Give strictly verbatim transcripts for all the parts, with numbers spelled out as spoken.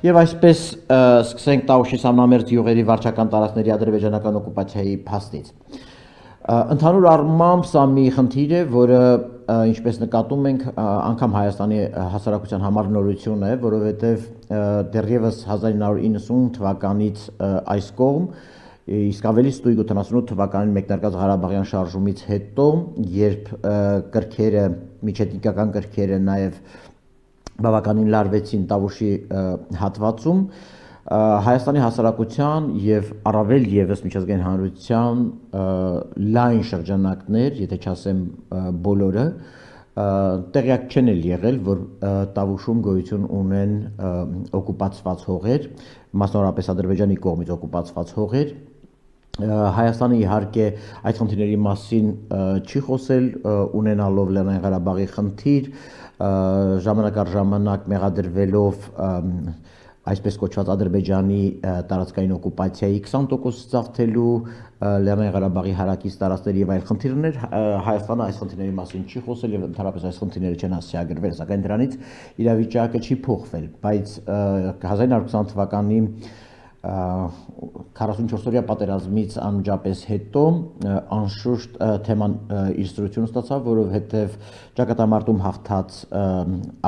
Եվ այսպես սկսենք Տավուշի սամնամերձ յուղերի վարչական տարածքների ադրբեջանական օկուպացիայի փաստից։ Ընդհանուր առմամբ սա մի խնդիր է, որը ինչպես նկատում ենք, անգամ Հայաստանի հասարակության համար նորություն է, որովհետև դեռևս հազար ինը հարյուր իննսուն թվականից այս կողմ, իսկ ավելի ստույգ ութանասունութ թվականին մեկնարկած Ղարաբաղյան շարժումից հետո, երբ կրքերը, միջեթնիկական կրքերը նաև բավականին լարվեցին Տավուշի հատվածում, Հայաստանի հասարակության և առավել ևս միջազգային հանրության լայն շրջանակներ, եթե չասեմ բոլորը, տեղյակ չեն էլ եղել, որ Տավուշում գոյություն ունեն օկուպացված հողեր, մասնավորապես Ադրբեջանի կողմից օկուպացված հողեր։ Հայաստանը իհարկե այդ խնդիրների մասին չի խոսել, ունենալով Լեռնային Ղարաբաղի խնդիր, ժամանակ առ ժամանակ մեղադրվելով այսպես կոչված Ադրբեջանի տարածքային օկուպացիայի քսան տոկոս զավթելու, Լեռնային Ղարաբաղի հարակից տարածքների եւ այլ խնդիրներ, Հայաստանը այս խնդիրների մասին չի խոսել եւ ընդհանրապես այս խնդիրները չեն հասցեագրվել, սակայն դրանից իրավիճակը չի փոխվել, բայց հազար ինը հարյուր քսան թվականի քառասունչորսօրյա պատերազմից անմիջապես հետո անշուշտ թեման իր սրություն ստացավ, որովհետև ճակատամարտում հաղթած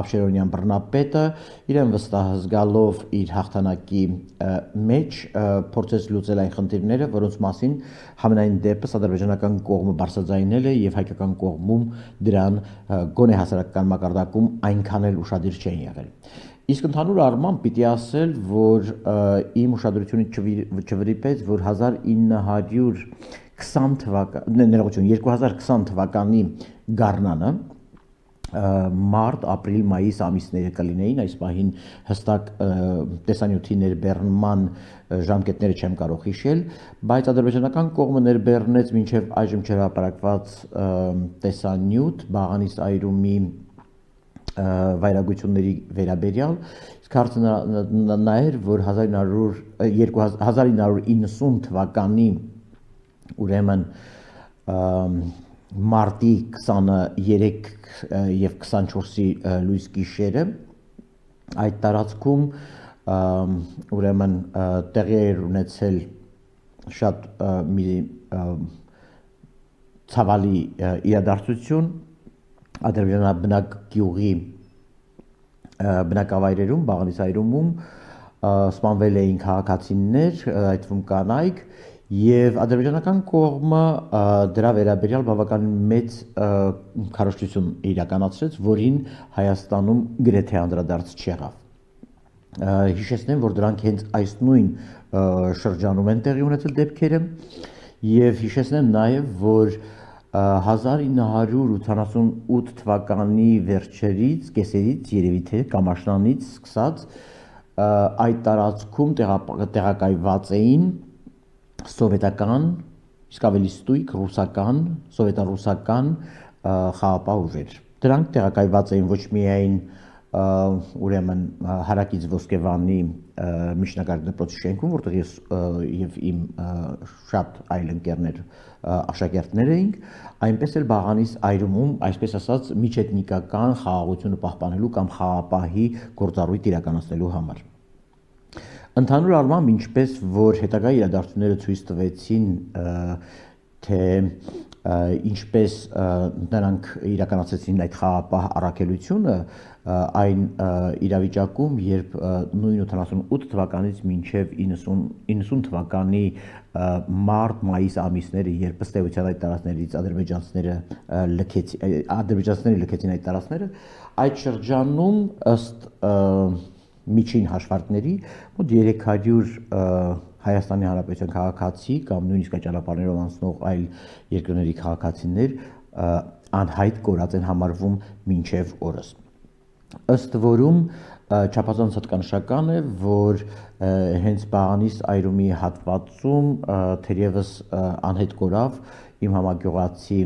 Աբշերոնյան բռնապետը իրեն վստահ զգալով իր հաղթանակի մեջ փորձեց լուծել այն խնդիրները, որոնց մասին համենայն դեպս ադրբեջանական կողմը բարձրաձայնել է եւ հայկական կողմում դրան գոնե հասարակական մակարդակում այնքան էլ ուշադիր չէին եղել։ Իսկ ընդհանուր առմամբ պիտի ասել, որ իմ ուշադրությունը չվրիպեց, որ հազար ինը հարյուր քսան թվականի, ներողություն, երկու հազար քսան թվականի գարնանը մարտ, ապրիլ, մայիս ամիսները կլինեին, այս պահին հստակ տեսանյութի ներբեռնման ժամկետները չեմ կարող հիշել, բայց ադրբեջանական կողմը ներբեռնեց մինչև այժմ չհրապարակված տեսանյութ Բաղանիս այրումի վայրագությունների վերաբերյալ, իսկ հարցը նա էր, որ հազար ինը հարյուր իննսուն թվականի ուրեմն մարտի քսաներեք եւ քսանչորսի լույս գիշերը այդ տարածքում ուրեմն տեղի էր ունեցել շատ մի ցավալի իրադարձություն ադրբեջանաբնակ գյուղի բնակավայրերում, Բաղանիս այրումում սպանվել էին քաղաքացիներ, այդ թվում կանայք, եւ ադրբեջանական կողմը դրա վերաբերյալ բավականին մեծ քարոզչություն իրականացրեց, որին Հայաստանում գրեթե անդրադարձ չեղավ։ Հիշեցնեմ, որ դրանք հենց այս նույն շրջանում են տեղի ունեցել դեպքերը, եւ հիշեցնեմ նաեւ, որ հազար ինը հարյուր ութանասունութ թվականի վերջերից, կեսերից, երևի թե Կամաշնանից սկսած այդ տարածքում տեղակայված էին սովետական, իսկ ավելի ստույգ ռուսական, սովետառուսական խաղաղապահ ուժեր։ Դրանք տեղակայված էին ոչ միայն ուրեմն հարակից Ոսկեվանի միջնակարգ դպրոցի շենքում, որտեղ ես եւ իմ շատ այլ ընկերներ աշակերտներ էինք, այնպես էլ Բաղանիս այրումում, այսպես ասած, միջեթնիկական խաղաղությունը պահպանելու կամ խաղաղապահի գործառույթ իրականացնելու համար։ Ընդհանուր առմամբ, ինչպես որ հետագա իրադարձությունները ցույց տվեցին, թե ինչպես նրանք իրականացրեցին այդ խաղաղապահ առաքելությունը, այն իրավիճակում, երբ նույն ութանասունութ թվականից մինչև իննսուն թվականի մարտ, մայիս ամիսները, երբ ըստ էության այդ տարածքներից ադրբեջանցիները լքեցին այդ տարածքները, այդ շրջանում ըստ միջին հաշվարկների մոտ երեք հարյուր Հայաստանի Հանրապետության քաղաքացի կամ նույնիսկ այդ ճանապարհներով անցնող այլ երկրների քաղաքացիներ անհայտ կորած են համարվում մինչև օրս։ Ըստ որում չափազանց հատկանշական է, որ հենց Բաղանիս այրումի հատվածում թերևս անհետ կորավ իմ համագյուղացի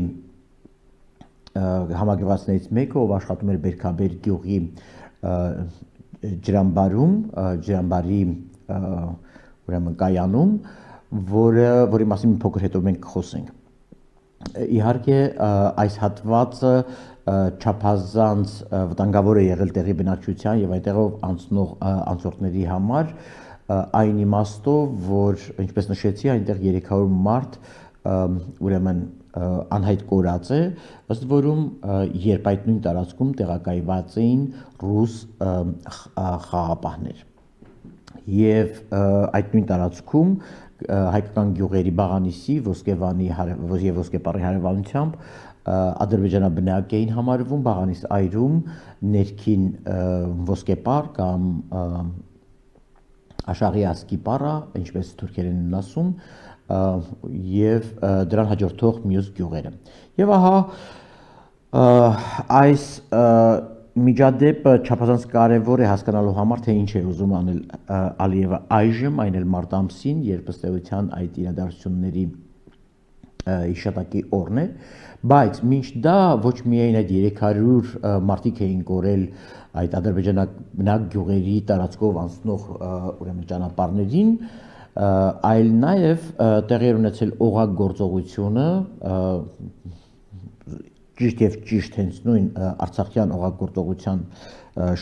համագյուղացիներից մեկը, ով աշխատում էր Բերքաբեր գյուղի ջրամբարում, ջրամբարի ուրեմն կայանում, որը որի մասին մի փոքր հետո մենք կխոսենք։ իհարկե այս հատվածը չափազանց վտանգավոր է եղել տեղի բնակչության եւ այնտեղով անցնող անցորդների համար այն իմաստով, որ ինչպես նշեցի, այնտեղ երեք հարյուր մարդ ուրեմն անհայտ կորած է, ըստ որում երբ այդ նույն տարածքում տեղակայված էին ռուս խաղապահներ եւ այդ նույն տարածքում հայկական գյուղերի Բաղանիսի, Ոսկեվանի եւ Ոսկեպարի հարևանությամբ ադրբեջանաբնակ էին համարվում Բաղանիս այրում ներքին Ոսկեպար կամ Աշաղի ասկիպարա, ինչպես թուրքերեն են ասում, եւ դրան հաջորդող մյուս գյուղերը։ Եվ ահա այս միջադեպը չափազանց կարևոր է հասկանալու համար, թե ինչ է ուզում անել Ալիևը այժմ, այն էլ մարտ ամսին, երբ ըստ էության այդ իրադարձությունների հիշատակի օրն է, բայց մինչ դա ոչ միայն այդ երեք հարյուր մարդիկ էին կորել այդ ադրբեջանաբնակ գյուղերի տարածքով անցնող ուրեմն ճանապարհներին, այլ նաև տեղի էր ունեցել օղագործողությունը ճիշտ եւ ճիշտ հենց նույն արցախյան օղագործողության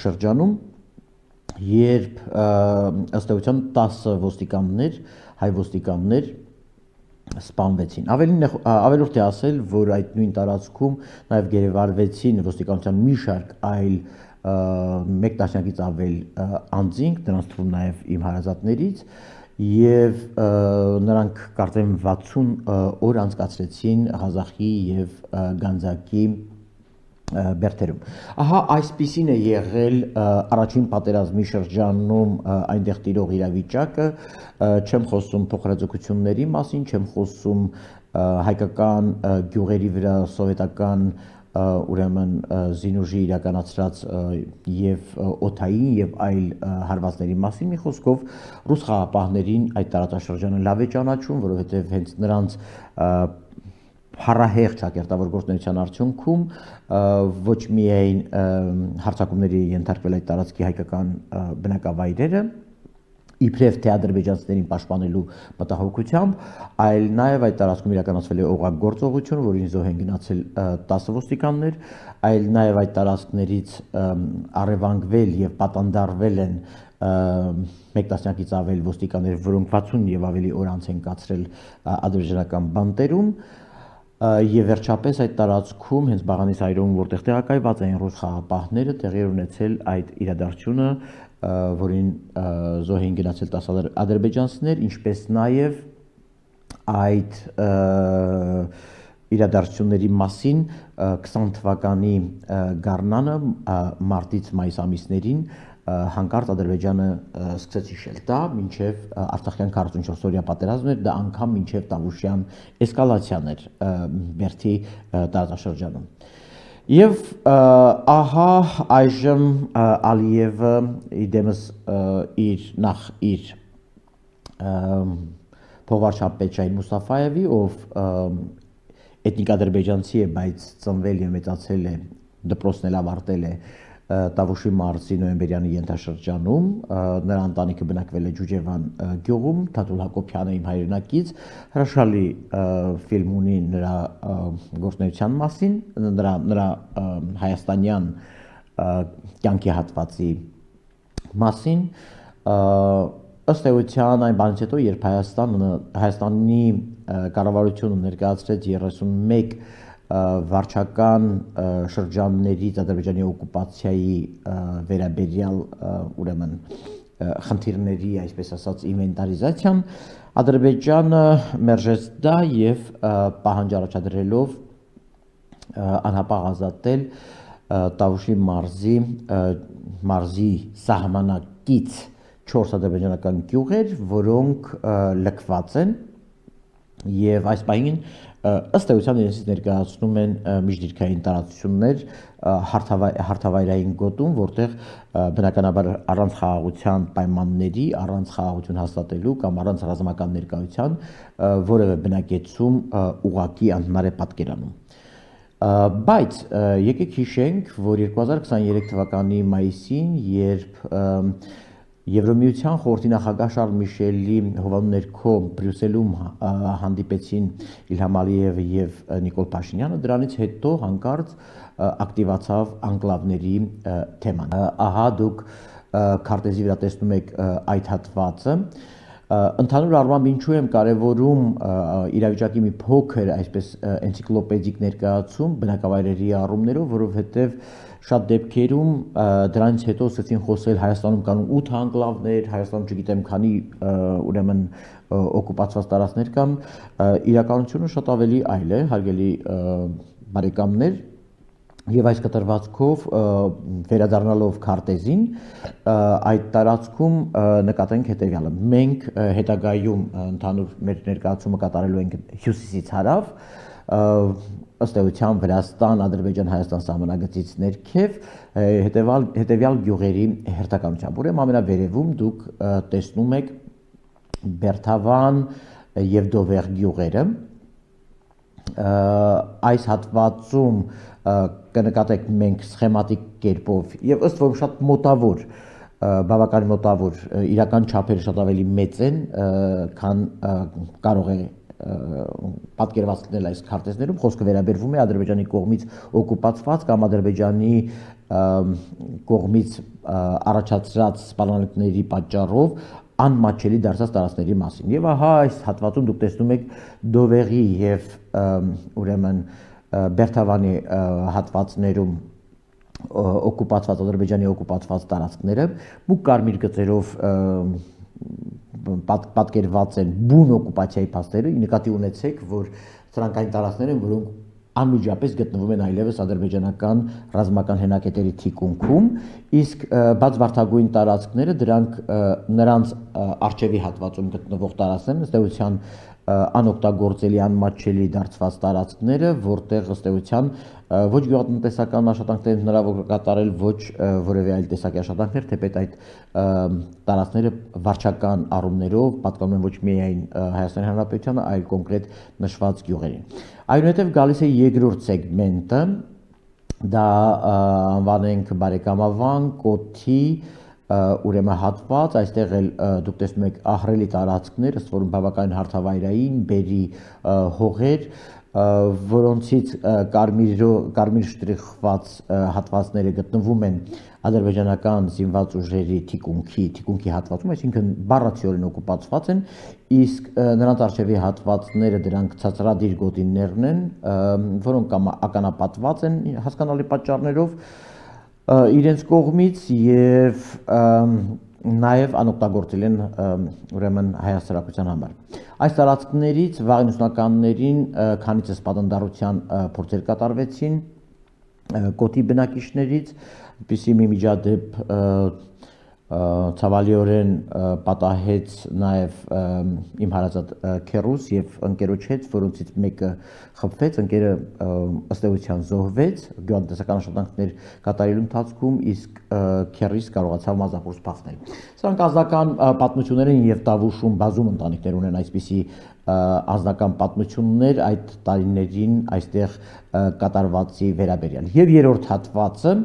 շրջանում, երբ ըստ էության տասը ոստիկաններ, հայ ոստիկաններ սպանվեցին։ Ավելորդ է ասել, որ այդ նույն տարածքում նաև գերեվարվեցին ոստիկանության մի շարք այլ մեկ տասնյակից ավել անձինք, նրանց թվում նաև իմ հարազատներից, եւ նրանք կարծեմ վաթսուն օր անցկացրեցին Ղազախի եւ Գանձակի բերդերում։ Ահա այսպիսին է եղել առաջին պատերազմի շրջանում այնտեղ տիրող իրավիճակը, չեմ խոսում փոխհրաձգությունների մասին, չեմ խոսում հայկական գյուղերի վրա սովետական ուրեմն զինուժի իրականացրած եւ օթային եւ այլ հարվածների մասին, մի խոսքով ռուս խաղապահներին այդ տարածաշրջանը լավ է ճանաչում, որովհետեւ հենց նրանց փառահեղ ճակերտավոր գործունեության արդյունքում ոչ միայն հարձակումների ենթարկվել այդ տարածքի հայկական բնակավայրերը, իբրև թե ադրբեջանցիներին պաշտպանելու մտահոգությամբ, այլ նաև այդ տարածքում իրականացվել է օղագործողություն, որին զոհ են գնացել տասը ոստիկաններ, այլ նաև այդ տարածքներից առևանգվել եւ պատանդարվել են մեկ տասնյակից ավել ոստիկաններ, որոնք վաթսուն եւ ավելի օր անց են կացրել ադրբեջանական բանտերում, եւ վերջապես այդ տարածքում հենց Բաղանիս այրում, որտեղ տեղակայված էին ռուս խաղապահները, տեղի էր ունեցել այդ իրադարձությունը, որին զոհ էին գնացել տասը ադրբեջանցիներ, ինչպես նաև այդ իրադարձությունների մասին քսան թվականի գարնանը մարտից մայիս ամիսներին հանկարծ Ադրբեջանը սկսեց հիշել դա, մինչև Արցախյան քառասունչորսօրյա պատերազմն էր, դա անգամ մինչև Տավուշյան էսկալացիան էր Բերդի տարածաշրջանում։ Եվ ահա այժմ Ալիևը իդեմս իր նախ իր փոխվարչապետ Շահին Մուստաֆայևի, ով էթնիկ ադրբեջանցի է, բայց ծնվել եւ մեծացել է, դպրոցն էլ ավարտել է Տավուշի մարզի նոյեմբերյանի ենթաշրջանում, նրա ընտանիքը բնակվել է Ջուջևան գյուղում, Թաթուլ Հակոբյանը իմ հայրենակից, հրաշալի ֆիլմ ունի նրա գործունեության մասին, նրա նրա հայաստանյան կյանքի հատվածի մասին, ըստ էության այն բանից հետո, երբ Հայաստանը Հայաստանի կառավարությունը ներկայացրեց երեսունմեկ վարչական շրջաններից Ադրբեջանի օկուպացիայի վերաբերյալ ուրեմն խնդիրների, այսպես ասած, ինվենտարիզացիան, Ադրբեջանը մերժեց դա եւ պահանջ առաջադրելով անհապաղ ազատել Տավուշի մարզի մարզի սահմանակից չորս ադրբեջանական գյուղեր, որոնք լքված են եւ այս պահին ըստ էության իրենցից ներկայացնում են միջդիրքային տարածություններ հարթավայրային գոտում, որտեղ բնականաբար առանց խաղաղության պայմանների, առանց խաղաղություն հաստատելու կամ առանց ռազմական ներկայության որևէ բնակեցում ուղղակի անհնար է պատկերանում։ Բայց եկեք հիշենք, որ երկու հազար քսաներեք թվականի մայիսին, երբ Եվրոմիության խորհրդի նախագահ Շարլ Միշելի հովանու ներքո Բրյուսելում հանդիպեցին Իլհամ Ալիևը եւ Նիկոլ Փաշինյանը, դրանից հետո հանկարծ ակտիվացավ անկլավների թեման։ Ահա դուք քարտեզի վրա տեսնում եք այդ հատվածը։ Ընդհանուր առմամբ ինչու եմ կարևորում իրավիճակի մի փոքր այսպես էնցիկլոպեդիկ ներկայացում բնակավայրերի առումներով, որովհետև շատ դեպքերում դրանից հետո սկսեցին խոսել Հայաստանում կան ութ անկլավներ, Հայաստանում չգիտեմ քանի ուրեմն օկուպացված տարածքներ կան, իրականությունը շատ ավելի այլ է, հարգելի բարեկամներ, եւ այս կտրվածքով վերադառնալով քարտեզին այդ տարածքում նկատենք հետեւյալը. մենք հետագայում ընդհանուր մեր ներկայացումը կատարելու ենք հյուսիսից հարավ, ըստ էության Վրաստան, Ադրբեջան, Հայաստան սահմանագծից ներքև հետևալ հետևյալ գյուղերի հերթականությամբ։ Ուրեմն ամենավերևում դուք տեսնում եք Բերթավան եւ Դովեր գյուղերը։ Այս հատվածում կնկատեք մենք սխեմատիկ կերպով եւ ըստ որում շատ մոտավոր, բավականին մոտավոր, իրական չափերը շատ ավելի մեծ են, քան կարող է պատկերված լինել այս քարտեզներում, խոսքը վերաբերվում է Ադրբեջանի կողմից օկուպացված կամ Ադրբեջանի կողմից առաջացրած սպառնալիքների պատճառով անմատչելի դարձած տարածքների մասին։ Եվ ահա այս հատվածում դուք տեսնում եք Դովերի եւ ուրեմն Բերթավանի հատվածներում օկուպացված Ադրբեջանի օկուպացված տարածքները մուգ կարմիր գծերով պատկերված են բուն օկուպացիայի փաստերը, նկատի ունեցեք, որ սրանք այն տարածքներ են, որոնք անմիջապես գտնվում են այլևս ադրբեջանական ռազմական հենակետերի թիկունքում, իսկ բաց վարդագույն տարածքները դրանք նրանց արչևի հատվածում գտնվող տարածքներն ըստ էության անօգտագործելի անմատչելի դարձված տարածքները, որտեղ ըստ էության ոչ գյուղատնտեսական աշխատանքներ հնարավոր կատարել, ոչ որևէ այլ տեսակի աշխատանքներ, թեպետ այդ տարածքները վարչական առումներով պատկանում են ոչ միայն Հայաստանի Հանրապետությանը, այլ կոնկրետ նշված գյուղերին։ Այնուհետև գալիս է երկրորդ սեգմենտը, դա անվանենք բարեկամավան, կոթի, ուրեմն հատված, այստեղ էլ դուք տեսնում եք ահռելի տարածքներ, ըստ որում բավականին հարթավայրային, բերի հողեր, որոնցից կարմիր շտրիխված հատվածները գտնվում են ադրբեջանական զինված ուժերի թիկունքի, թիկունքի հատվածում, այսինքն բառացիորեն օկուպացված են, իսկ նրանց արժևի հատվածները դրանք ցածրադիր գոտիներն են, որոնք կամ ականապատված են հասկանալի պատճառներով իրենց կողմից եւ նաև անօգտագործել են ուրեմն հայ հասարակության համար։ Այս տարածքներից վաղ իննսունականներին քանիցս պատանդառության փորձեր կատարվեցին կոթի բնակիչներից, որպեսզի մի միջադեպ ցավալիորեն պատահեց նաև իմ հարազատ քեռուս եւ ընկերոջ հետ, որոնցից մեկը խփվեց, ընկերը ըստ էության զոհվեց գյուղատնտեսական աշխատանքներ կատարելու ընթացքում, իսկ քեռիս կարողացավ մազախոս փախնել։ Սրանք անձնական պատմություններ են եւ Տավուշում բազում ընտանիքներ ունեն այսպիսի անձնական պատմություններ այդ տարիներին այստեղ կատարվածի վերաբերյալ։ Եվ երրորդ հատվածը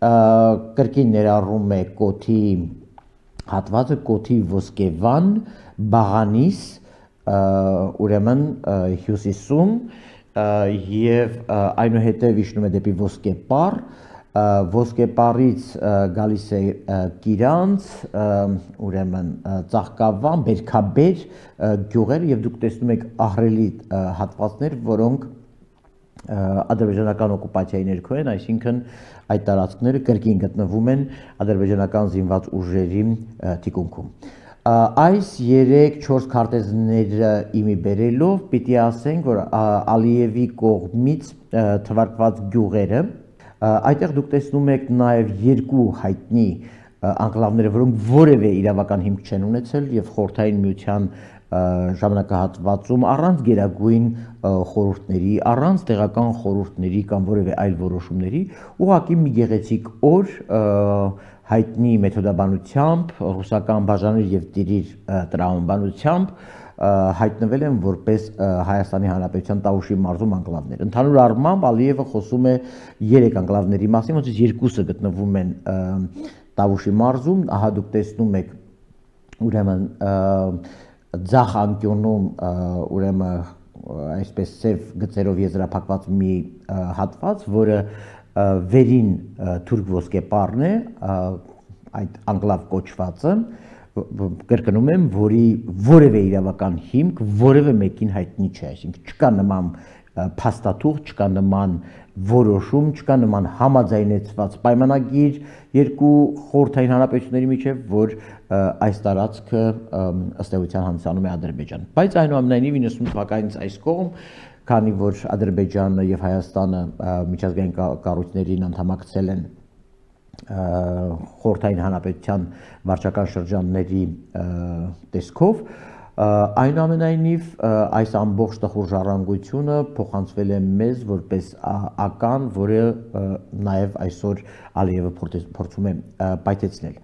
կրկին ներառում է կոթի հատվածը, կոթի ոսկեվան, բաղանիս, ուրեմն հյուսիսում եւ այնուհետեւ իջնում է դեպի ոսկեպար, ոսկեպարից գալիս է Կիրանց, ուրեմն Ծաղկավան, Բերքաբեր գյուղեր եւ դուք տեսնում եք ահռելի հատվածներ, որոնք ադրբեջանական օկուպացիայի ներքո են, այսինքն այդ տարածքները կրկին գտնվում են ադրբեջանական զինված ուժերի թիկունքում։ Այս երեք-չորս քարտեզները իմի բերելով պիտի ասենք, որ Ալիևի կողմից թվարկված գյուղերը, այդտեղ դուք տեսնում եք նաև երկու հայտնի անկլավները, որոնք որևէ իրավական հիմք չեն ունեցել եւ խորհրդային միության ժամանակահատվածում առանց գերագույն խորհուրդների, առանց տեղական խորհուրդների կամ որևէ այլ որոշումների, ուղղակի մի գեղեցիկ օր հայտնի մեթոդաբանությամբ, ռուսական բաժաներ եւ տիրիր տրամաբանությամբ հայտնվել են որպես Հայաստանի Հանրապետության Տավուշի մարզում անկլավներ։ Ընդհանուր առմամբ Ալիևը խոսում է երեք անկլավների մասին, որոնցից երկուսը գտնվում են Տավուշի մարզում, ահա դուք տեսնում եք ուրեմն ձախ անկյունում ուրեմն այսպես սև գծերով եզրափակված մի հատված, որը վերին թուրք ոսկեպարն է, այդ անկլավ կոչվածը, կրկնում եմ, որի որևէ իրավական հիմք որևէ մեկին հայտնի չէ, այսինքն չկա նման փաստաթուղթ, չկա նման որոշում, չկա նման համաձայնեցված պայմանագիր երկու խորհրդային հանրապետությունների միջև, որ այս տարածքը ըստ էության հանդիսանում է Ադրբեջան։ Բայց այնուամենայնիվ իննսուն թվականից այս կողմ, քանի որ Ադրբեջանը եւ Հայաստանը միջազգային կառույցներին անդամակցել են խորհրդային հանրապետության վարչական շրջանների տեսքով, այնուամենայնիվ այս ամբողջ տխուր ժառանգությունը փոխանցվել է մեզ որպես ական, որը նաև այսօր Ալիևը փորձում է պայթեցնել։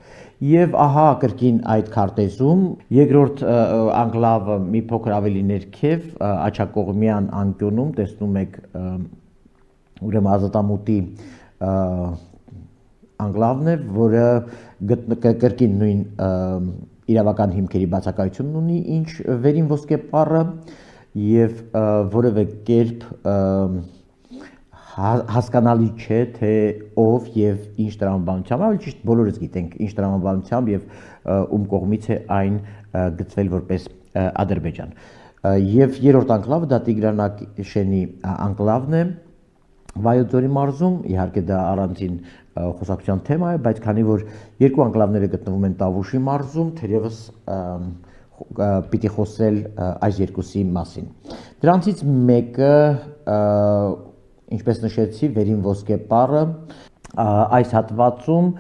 Եվ ահա կրկին այդ քարտեզում երկրորդ անկլավը մի փոքր ավելի ներքև աջակողմյան անկյունում տեսնում եք ուրեմն Ազատամուտի անկլավն է, որը կրկին նույն իրավական հիմքերի բացակայությունն ունի, ինչ վերին ոսկեպարը եւ որևէ կերպ հասկանալի չէ, թե ով եւ ինչ տրամաբանությամբ, ավելի ճիշտ բոլորս գիտենք ինչ տրամաբանությամբ եւ ում կողմից է այն գծվել որպես Ադրբեջան։ Եվ երրորդ անկլավը դա Տիգրանակշենի անկլավն է Վայոց ձորի մարզում, իհարկե դա առանձին խոսակցության թեմա է, բայց քանի որ երկու անկլավները գտնվում են Տավուշի մարզում, թերևս պիտի խոսել այս երկուսի մասին։ Դրանցից մեկը, ինչպես նշեցի, վերին ոսկեպարը, այս հատվածում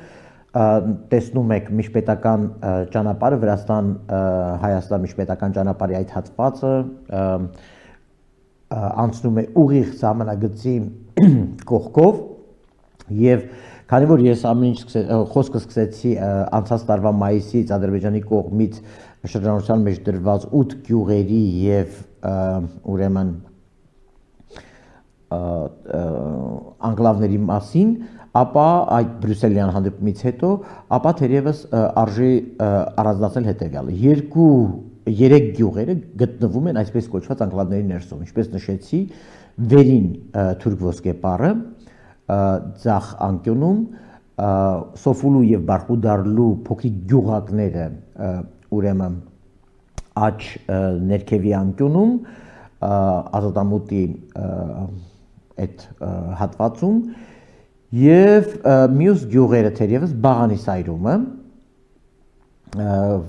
տեսնում եք միջպետական ճանապարհը, Վրաստան-Հայաստան միջպետական ճանապարհի այդ հատվածը անցնում է ուղիղ սահմանագծի կողքով եւ քանի որ ես ամեն ինչ խոսքը սկսեցի անցած տարվա մայիսից Ադրբեջանի կողմից շրջանառության մեջ դրված ութ գյուղերի եւ ուրեմն անկլավների մասին, ապա այդ բրյուսելյան հանդիպումից հետո, ապա թերևս արժի առանձնացնել հետեւյալը. երկու երեք գյուղերը գտնվում են այսպես կոչված անկլավների ներսում, ինչպես նշեցի, վերին թուրք ոսկեպարը ձախ անկյունում, Սոֆուլու եւ Բարխուդարլու փոքրիկ գյուղակները ուրեմն աջ ներքևի անկյունում, Ազատամուտի այդ հատվածում եւ մյուս գյուղերը թերևս Բաղանիսայրումը,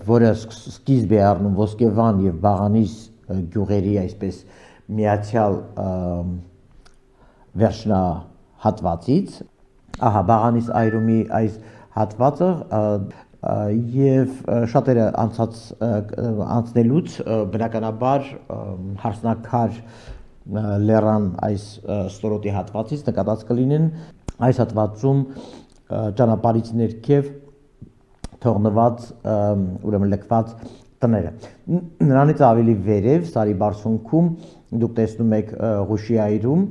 որը սկիզբ է առնում Ոսկեվան եւ Բաղանիս գյուղերի այսպես միացյալ վերջնահատվածից, ահա Բաղանիս այրումի այս հատվածը եւ շատերը անցած անցնելուց բնականաբար հարսնակար լեռան այս ստորոտի հատվածից նկատած կլինեն այս հատվածում ճանապարհից ներքև թողնված ուրեմն լքված տները։ Նրանից ավելի վերև Սարի բարձունքում դուք տեսնում եք Ղուշի այրում,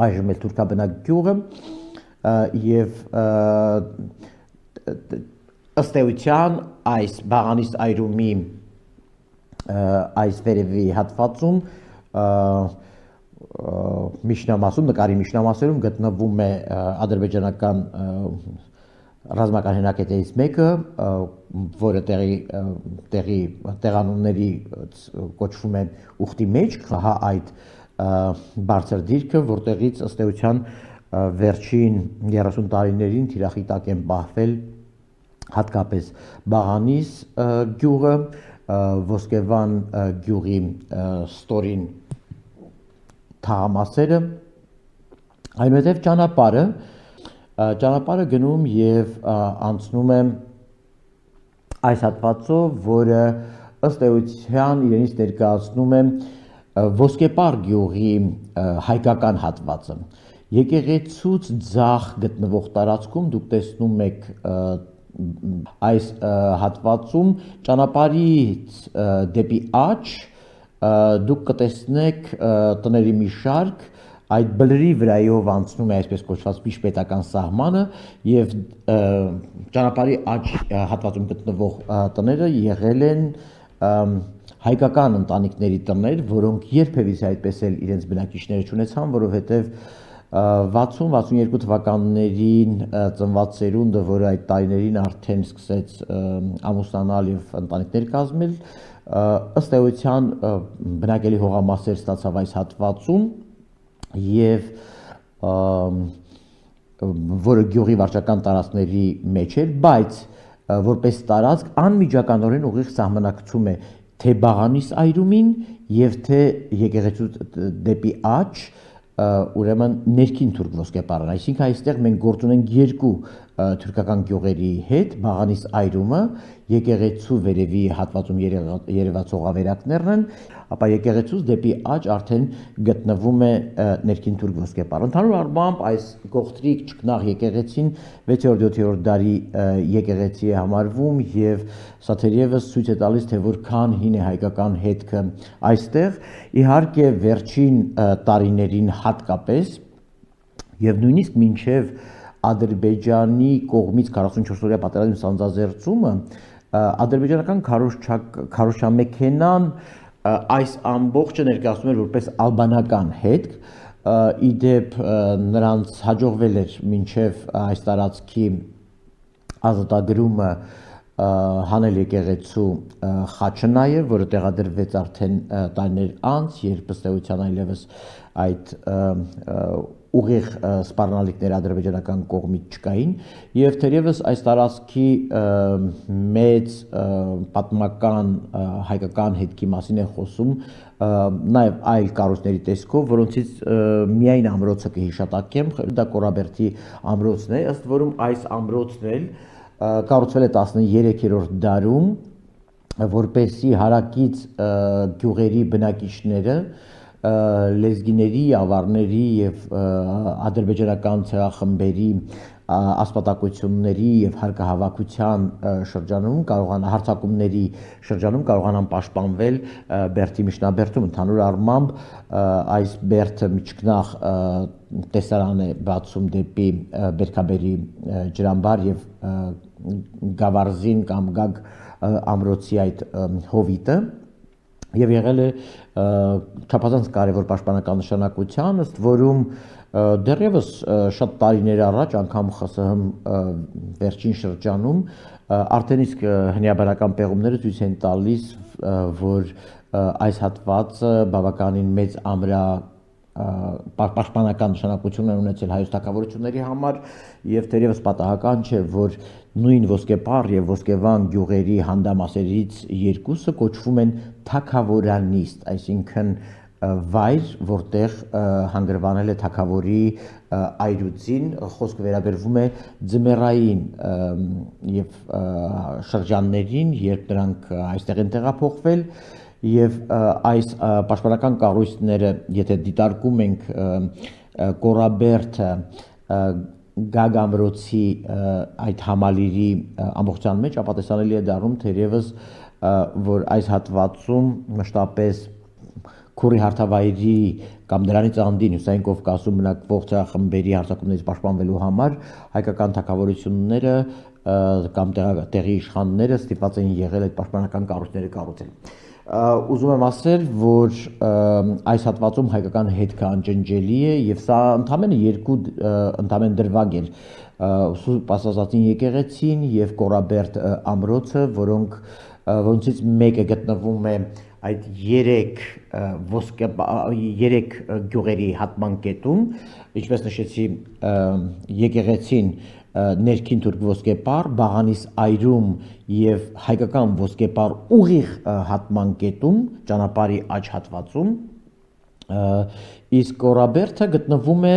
այժմ էլ թուրքաբնակ գյուղը եւ ըստ էության այս Բաղանիս այրումի այս վերևի հատվածում միջնամասում, նկարի միջնամասերում գտնվում է ադրբեջանական ռազմական հենակետերից մեկը, որը տեղի տեղի տեղանունների կոչվում է ուխտի մեջ, հա այդ բարձր դիրքը, որտեղից ըստ էության վերջին երեսուն տարիներին թիրախի տակ են պահվել հատկապես Բաղանիս գյուղը, Ոսկեվան գյուղի ստորին թաղամասերը, այնուհետև ճանապարհը Ճանապարհը գնում եւ անցնում է այս հատվածով, որը ըստ էության իրենից ներկայացնում է Ոսկեպար գյուղի հայկական հատվածը։ Եկեղեցուց ձախ գտնվող տարածքում դուք տեսնում եք այս հատվածում ճանապարհից դեպի աջ դուք կտեսնեք տների մի շարք, այդ բլրի վրայով անցնում է այսպես կոչված միջպետական սահմանը եւ ճանապարհի աջ հատվածում գտնվող տները եղել են հայկական ընտանիքների տներ, որոնք երբևիցե այդպես էլ իրենց բնակիչները չունեցան, որովհետև վաթսուն վաթսունյոթ թվականներին ծնված սերունդը, որը այդ տարիներին արդեն սկսեց ամուսնանալ եւ ընտանիքներ կազմել, ըստ էության բնակելի հողամասեր ստացավ այս հատվածում եւ որը գյուղի վարչական տարածքների մեջ էր, բայց որպես տարածք անմիջականորեն ուղիղ սահմանակցում է թե Բաղանիս այրումին եւ թե եկեղեցու դեպի աջ, ուրեմն ներքին թուրք ոսկեպարն, այսինքն այստեղ մենք գործ ունենք երկու թուրքական գյուղերի հետ, Բաղանիս այրումը, եկեղեցու վերևի հատվածում երևացող ավերակներն են, ապա եկեղեցուց դեպի աջ արդեն գտնվում է ներքին թուրք ոսկեպարը։ Ընդհանուր առմամբ այս գողտրիկ ճկնաղ եկեղեցին վեցերորդ-յոթերորդ դարի եկեղեցի է համարվում եւ սա թերևս ցույց է տալիս, թե որքան հին է հայկական հետքը այստեղ, իհարկե վերջին տարիներին հատկապես եւ նույնիսկ մինչեւ Ադրբեջանի կողմից քառասունչորսօրյա պատերազմի սանձազերծումը ադրբեջանական քարոզչամեքենան այս ամբողջը ներկայացնում էր որպես ալբանական հետք, ի դեպ նրանց հաջողվել էր մինչև այս տարածքի ազատագրումը հանել եկեղեցու խաչը նաև, որը տեղադրվեց արդեն տարիներ անց, երբ ըստ էության այլևս այդ ուղիղ սպառնալիքներ ադրբեջանական կողմից չկային եւ թերևս այս տարածքի մեծ պատմական հայկական հետքի մասին է խոսում նաեւ այլ կառույցների տեսքով, որոնցից միայն ամրոցը կհիշատակեմ, դա Կորաբերդի ամրոցն է, ըստ որում այս ամրոցն էլ կառուցվել է տասներեքերորդ դարում, որպեսզի հարակից գյուղերի բնակիչները լեզգիների, ավարների եւ ադրբեջանական ցեղախմբերի ասպատակությունների եւ հարկահավաքության շրջանում կարողանան հարձակումների շրջանում կարողանան պաշտպանվել Բերդի միջնաբերդում։ Ընդհանուր առմամբ այս Բերդը միջկնաղ տեսարան է բացում դեպի Բերքաբերի ջրամբար եւ Գավառզին կամ Գագ ամրոցի այդ հովիտը եւ եղել է չափազանց կարևոր պաշտպանական նշանակության, ըստ որում դեռևս շատ տարիներ առաջ, անգամ ԽՍՀՄ վերջին շրջանում արդեն իսկ հնիաբանական պեղումները ցույց են տալիս, որ այս հատվածը բավականին մեծ ամրա պաշտպանական նշանակություն են ունեցել հայոց թագավորությունների համար եւ թերևս պատահական չէ, որ նույն ոսկեպար եւ ոսկեվան գյուղերի հանդամասերից երկուսը կոչվում են թագավորանիստ, այսինքն վայր, որտեղ հանգրվանել է թագավորի այրուծին, խոսքը վերաբերվում է ձմեռային եւ շրջաններին, երբ նրանք այստեղ են տեղափոխվել եւ այս պաշտպանական կառույցները, եթե դիտարկում ենք Կորաբերդը Գագ ամրոցի այդ համալիրի ամբողջության մեջ, ապա տեսանելի է դառնում թերևս, որ այս հատվածում մշտապես Քուրի հարթավայրի կամ դրանից անդին Հյուսիսային Կովկասում բնակվող ցեղախմբերի հարձակումներից պաշտպանվելու համար հայկական թագավորությունները կամ տեղի իշխանները ստիպված են եղել այդ պաշտպանական կառույցները կառուցել։ Ուզում եմ ասել, որ այս հատվածում հայկական հետքը անջնջելի է եւ սա ընդամենը երկու ընդամեն դրվագ էր Սուրբ Աստվածածին եկեղեցին եւ Կորաբերդ ամրոցը, որոնք որոնցից մեկը գտնվում է այդ երեք ոսկե երեք գյուղերի հատման կետում, ինչպես նշեցի, եկեղեցին ներքին թուրք ոսկեպար, Բաղանիս այրում եւ հայկական ոսկեպար ուղիղ հատման կետում, ճանապարհի աջ հատվածում, իսկ Կորաբերդը գտնվում է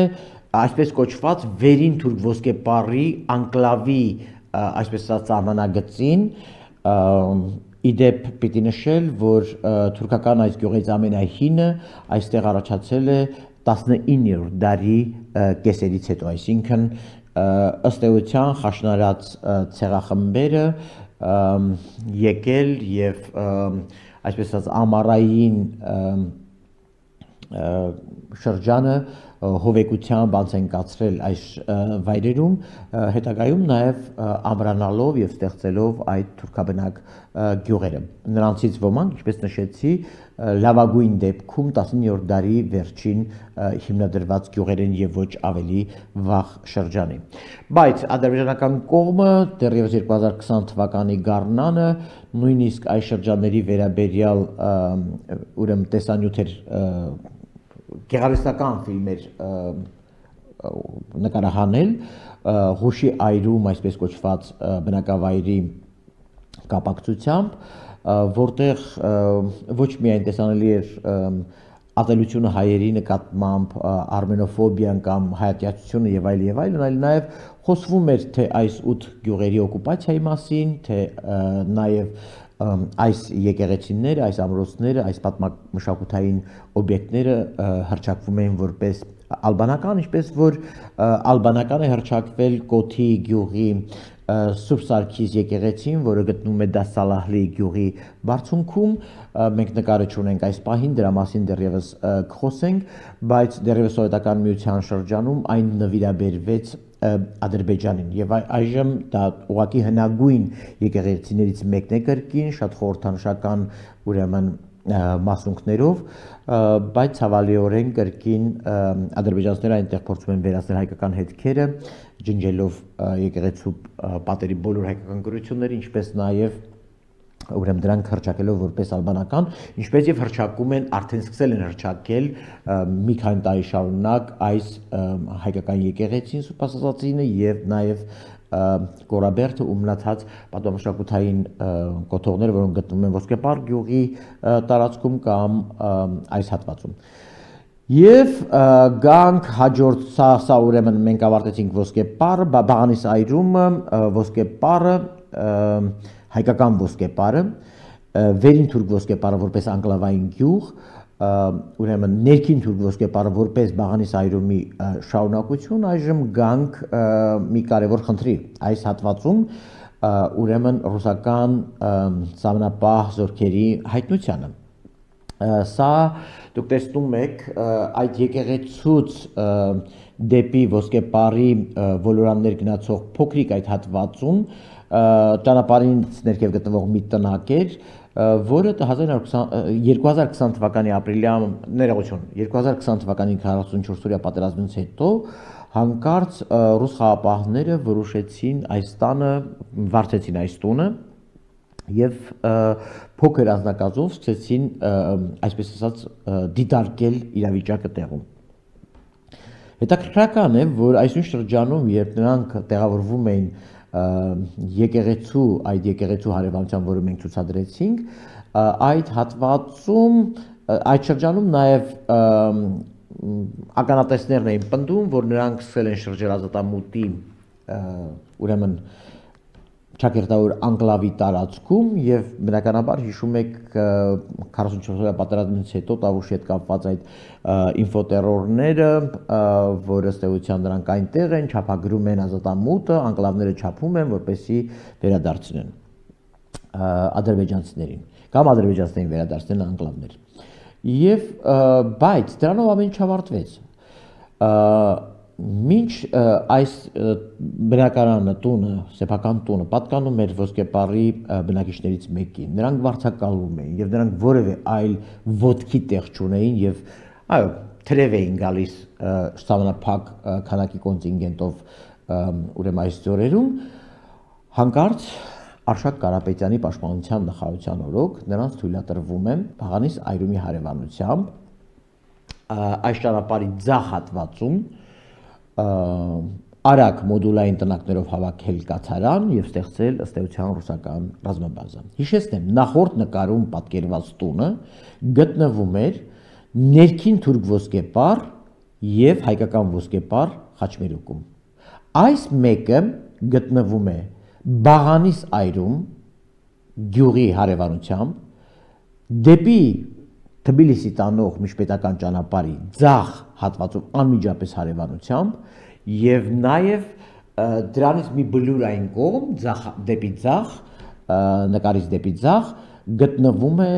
այսպես կոչված վերին թուրք ոսկեպարի անկլավի, այսպես ասած, սահմանագծին, իդեպ պիտի նշել, որ թուրքական այս գյուղից ամենահինը այստեղ առաջացել է տասնիններորդ դարի կեսերից հետո, այսինքն ըստ էության խաշնարած ցեղախմբերը եկել եւ այսպես ասած ամառային շրջանը հովեկությամբ անց են կացրել այս վայրերում, հետագայում նաև ամրանալով եւ ստեղծելով այդ թուրքաբնակ գյուղերը։ Նրանցից ոմանք, ինչպես նշեցի, լավագույն դեպքում տասնիններորդ դարի վերջին հիմնադրված գյուղեր են եւ ոչ ավելի վաղ շրջանի։ Բայց ադրբեջանական կողմը դեռևս երկու հազար քսան թվականի գարնանը նույնիսկ այս շրջանների վերաբերյալ ուրեմն տեսանյութեր գեղարվեստական ֆիլմեր նկարահանել Ղուշի այրում այսպես կոչված բնակավայրի կապակցությամբ, որտեղ ոչ միայն տեսանելի էր ատելությունը հայերի նկատմամբ, արմենոֆոբիան կամ հայատյացությունը եւ այլ եւ այլն, այլ նաեւ խոսվում էր թե այս ութ գյուղերի օկուպացիայի մասին, թե նաեւ այս եկեղեցիները, այս ամրոցները, այս պատմամշակութային օբյեկտները հռչակվում էին որպես ալբանական, ինչպես որ ալբանական է հռչակվել Կոթի գյուղի Սուրբ Սարգիս եկեղեցին, որը գտնվում է Դասալահլի գյուղի բարձունքում, մենք նկարը չունենք այս պահին, դրա մասին դեռևս կխոսենք, բայց դեռևս սովետական միության շրջանում այն նվիրաբերվեց Ադրբեջանին եւ այժմ դա ուղղակի հնագույն եկեղեցիներից մեկն է կրկին, շատ խորհրդանշական ուրեմն մասունքներով, բայց ցավալիորեն կրկին ադրբեջանցիները այնտեղ փորձում են վերացնել հայկական հետքերը, ջնջելով եկեղեցու պատերի բոլոր հայկական գրությունները, ինչպես նաև ուրեմն դրանք հռչակելով որպես ալբանական, ինչպես եւ հռչակում են, արդեն սկսել են հռչակել մի քանի տարի շարունակ այս հայկական եկեղեցին Սուրբ Աստվածածինը եւ նաեւ Կորաբերդը ու մնացած պատմամշակութային կոթողները, որոնք գտնվում են Ոսկեպար գյուղի տարածքում կամ այս հատվածում։ Եվ գանք հաջորդ սա, սա ուրեմն մենք ավարտեցինք Ոսկեպարը, Բաղանիս այրումը, Ոսկեպարը, հայկական Ոսկեպարը, վերին թուրք Ոսկեպարը որպես անկլավային գյուղ, ուրեմն ներքին թուրք Ոսկեպարը որպես Բաղանիս այրումի շարունակություն, այժմ գանք մի կարևոր խնդրի այս հատվածում, ուրեմն ռուսական սահմանապահ զորքերի հայտնությանը։ Սա դուք տեսնում եք այդ եկեղեցուց դեպի Ոսկեպարի ոլորաններ գնացող փոքրիկ այդ հատվածում ճանապարհից ներքև գտնվող մի տնակ էր, որը երկու հազար քսան թվականի ապրիլյան ներողություն, երկու հազար քսան թվականի քառասունչորս-օրյա պատերազմից հետո հանկարծ ռուս խաղապահները որոշեցին այս տանը, վարձեցին այս տունը եւ փոքր անձնակազմով սկսեցին, այսպես ասած, դիտարկել իրավիճակը տեղում։ Հետաքրքրական է, որ այսօր շրջանում, երբ նրանք տեղավորվում էին եկեղեցու, այդ եկեղեցու հարևանությամբ, որը մենք ցուցադրեցինք, այդ հատվածում, այդ շրջանում նաև ականատեսներն էին պնդում, որ նրանք սկսել են շրջել ազատամուտի, ուրեմն Չակերտավոր անկլավի տարածքում եւ բնականաբար հիշում եք քառասունչորս-օրյա պատերազմից հետո Տավուշի հետ կապված այդ ինֆոտերորները, որը ըստ էության նրանք այնտեղ են, չափագրում են ազատամուտը, անկլավները չափում են, որպեսզի վերադարձնեն ադրբեջանցիներին կամ ադրբեջանցիներին վերադարձնեն անկլավներ։ Եվ բայց դրանով ամեն ինչ ավարտվեց։ Մինչ այս բնակարանը, տունը, սեփական տունը պատկանում էր Ոսկեպարի բնակիչներից մեկին, նրանք վարձակալվում էին եւ նրանք որևէ այլ ոտքի տեղ չունեին եւ այո, թրև էին գալիս սահմանափակ քանակի կոնտինգենտով ուրեմն այս ծորերում, հանկարծ Արշակ Կարապետյանի պաշտպանության նախարարության օրոք նրանց թույլատրվում է Բաղանիս այրումի հարևանությամբ այս ճանապարհի ձախ հատվածում արագ մոդուլային տնակներով հավաքել կացարան եւ ստեղծել ըստ էության ռուսական ռազմաբազա։ Հիշեցնեմ, նախորդ նկարում պատկերված տունը գտնվում էր ներքին թուրք Ոսկեպար եւ հայկական Ոսկեպար Խաչմերուկում։ Այս մեկը գտնվում է Բաղանիս այրում գյուղի հարևանությամբ դեպի Թբիլիսի տանող միջպետական ճանապարհի ձախ հատվածով անմիջապես հարևանությամբ եւ նաեւ դրանից մի բլուրային կողմ ձախ դեպի ձախ նկարից դեպի ձախ գտնվում է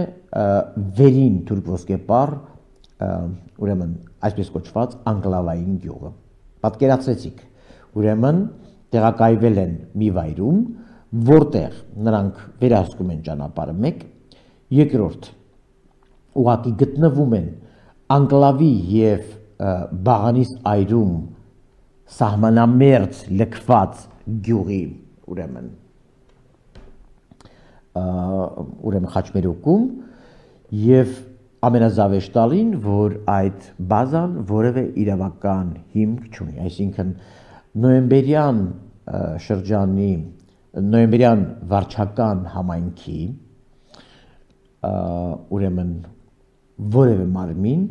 վերին թուրք Ոսկեպար ուրեմն այսպես կոչված անկլավային գյուղը։ Պատկերացրեցիք, ուրեմն տեղակայվել են մի վայրում, որտեղ նրանք վերահսկում են ճանապարհը մեկ, երկրորդ ուղղակի գտնվում են անկլավի եւ բաղանիս այրում սահմանամերձ լքված գյուղի, ուրեմն ուրեմն խաչմերուկում եւ ամենազավեշտալին, որ այդ բազան որևէ իրավական հիմք չունի, այսինքն նոյեմբերյան շրջանի, նոյեմբերյան վարչական համայնքի ուրեմն որևէ մարմին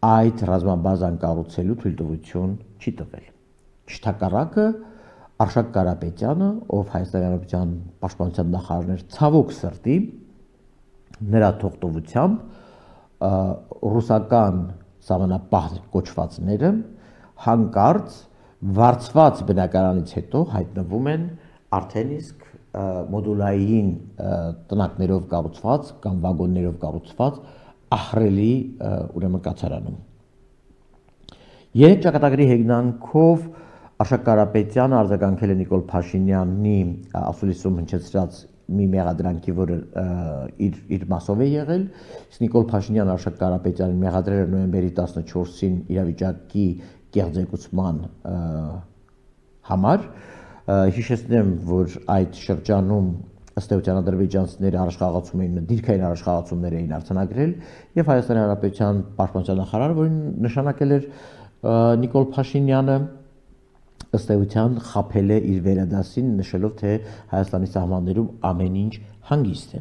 այդ ռազմաբազան կառուցելու թույլտվություն չի տվել։ Չթակառակը Արշակ Կարապետյանը, ով Հայաստանի Հանրապետության պաշտպանության նախարարն էր, ցավոք սրտի նրա թողտվությամբ ռուսական սահմանապահ կոչվածները հանկարծ վարձված բնակարանից հետո հայտնվում են արդեն իսկ մոդուլային տնակներով կառուցված կամ վագոններով կառուցված ահռելի ուրեմն կացարանում։ Երեք ճակատագրի հեգնանքով Արշակ Կարապետյանը արձագանքել է Նիկոլ Փաշինյանի ասուլիսում հնչեցրած մի մեղադրանքի, որը իր իր մասով է եղել, իսկ Նիկոլ Փաշինյանը Արշակ Կարապետյանին մեղադրել է նոյեմբերի տասնչորսին իրավիճակի կեղծեկուցման համար։ Հիշեցնեմ, որ այդ շրջանում ըստ էության ադրբեջանցիները առաջխաղացում էին, դիրքային առաջխաղացումներ էին արձանագրել եւ Հայաստանի Հանրապետության պաշտպանության նախարարը, որին նշանակել էր Նիկոլ Փաշինյանը, ըստ էության խաբել է իր վերադասին, նշելով, թե Հայաստանի սահմաններում ամեն ինչ հանգիստ է։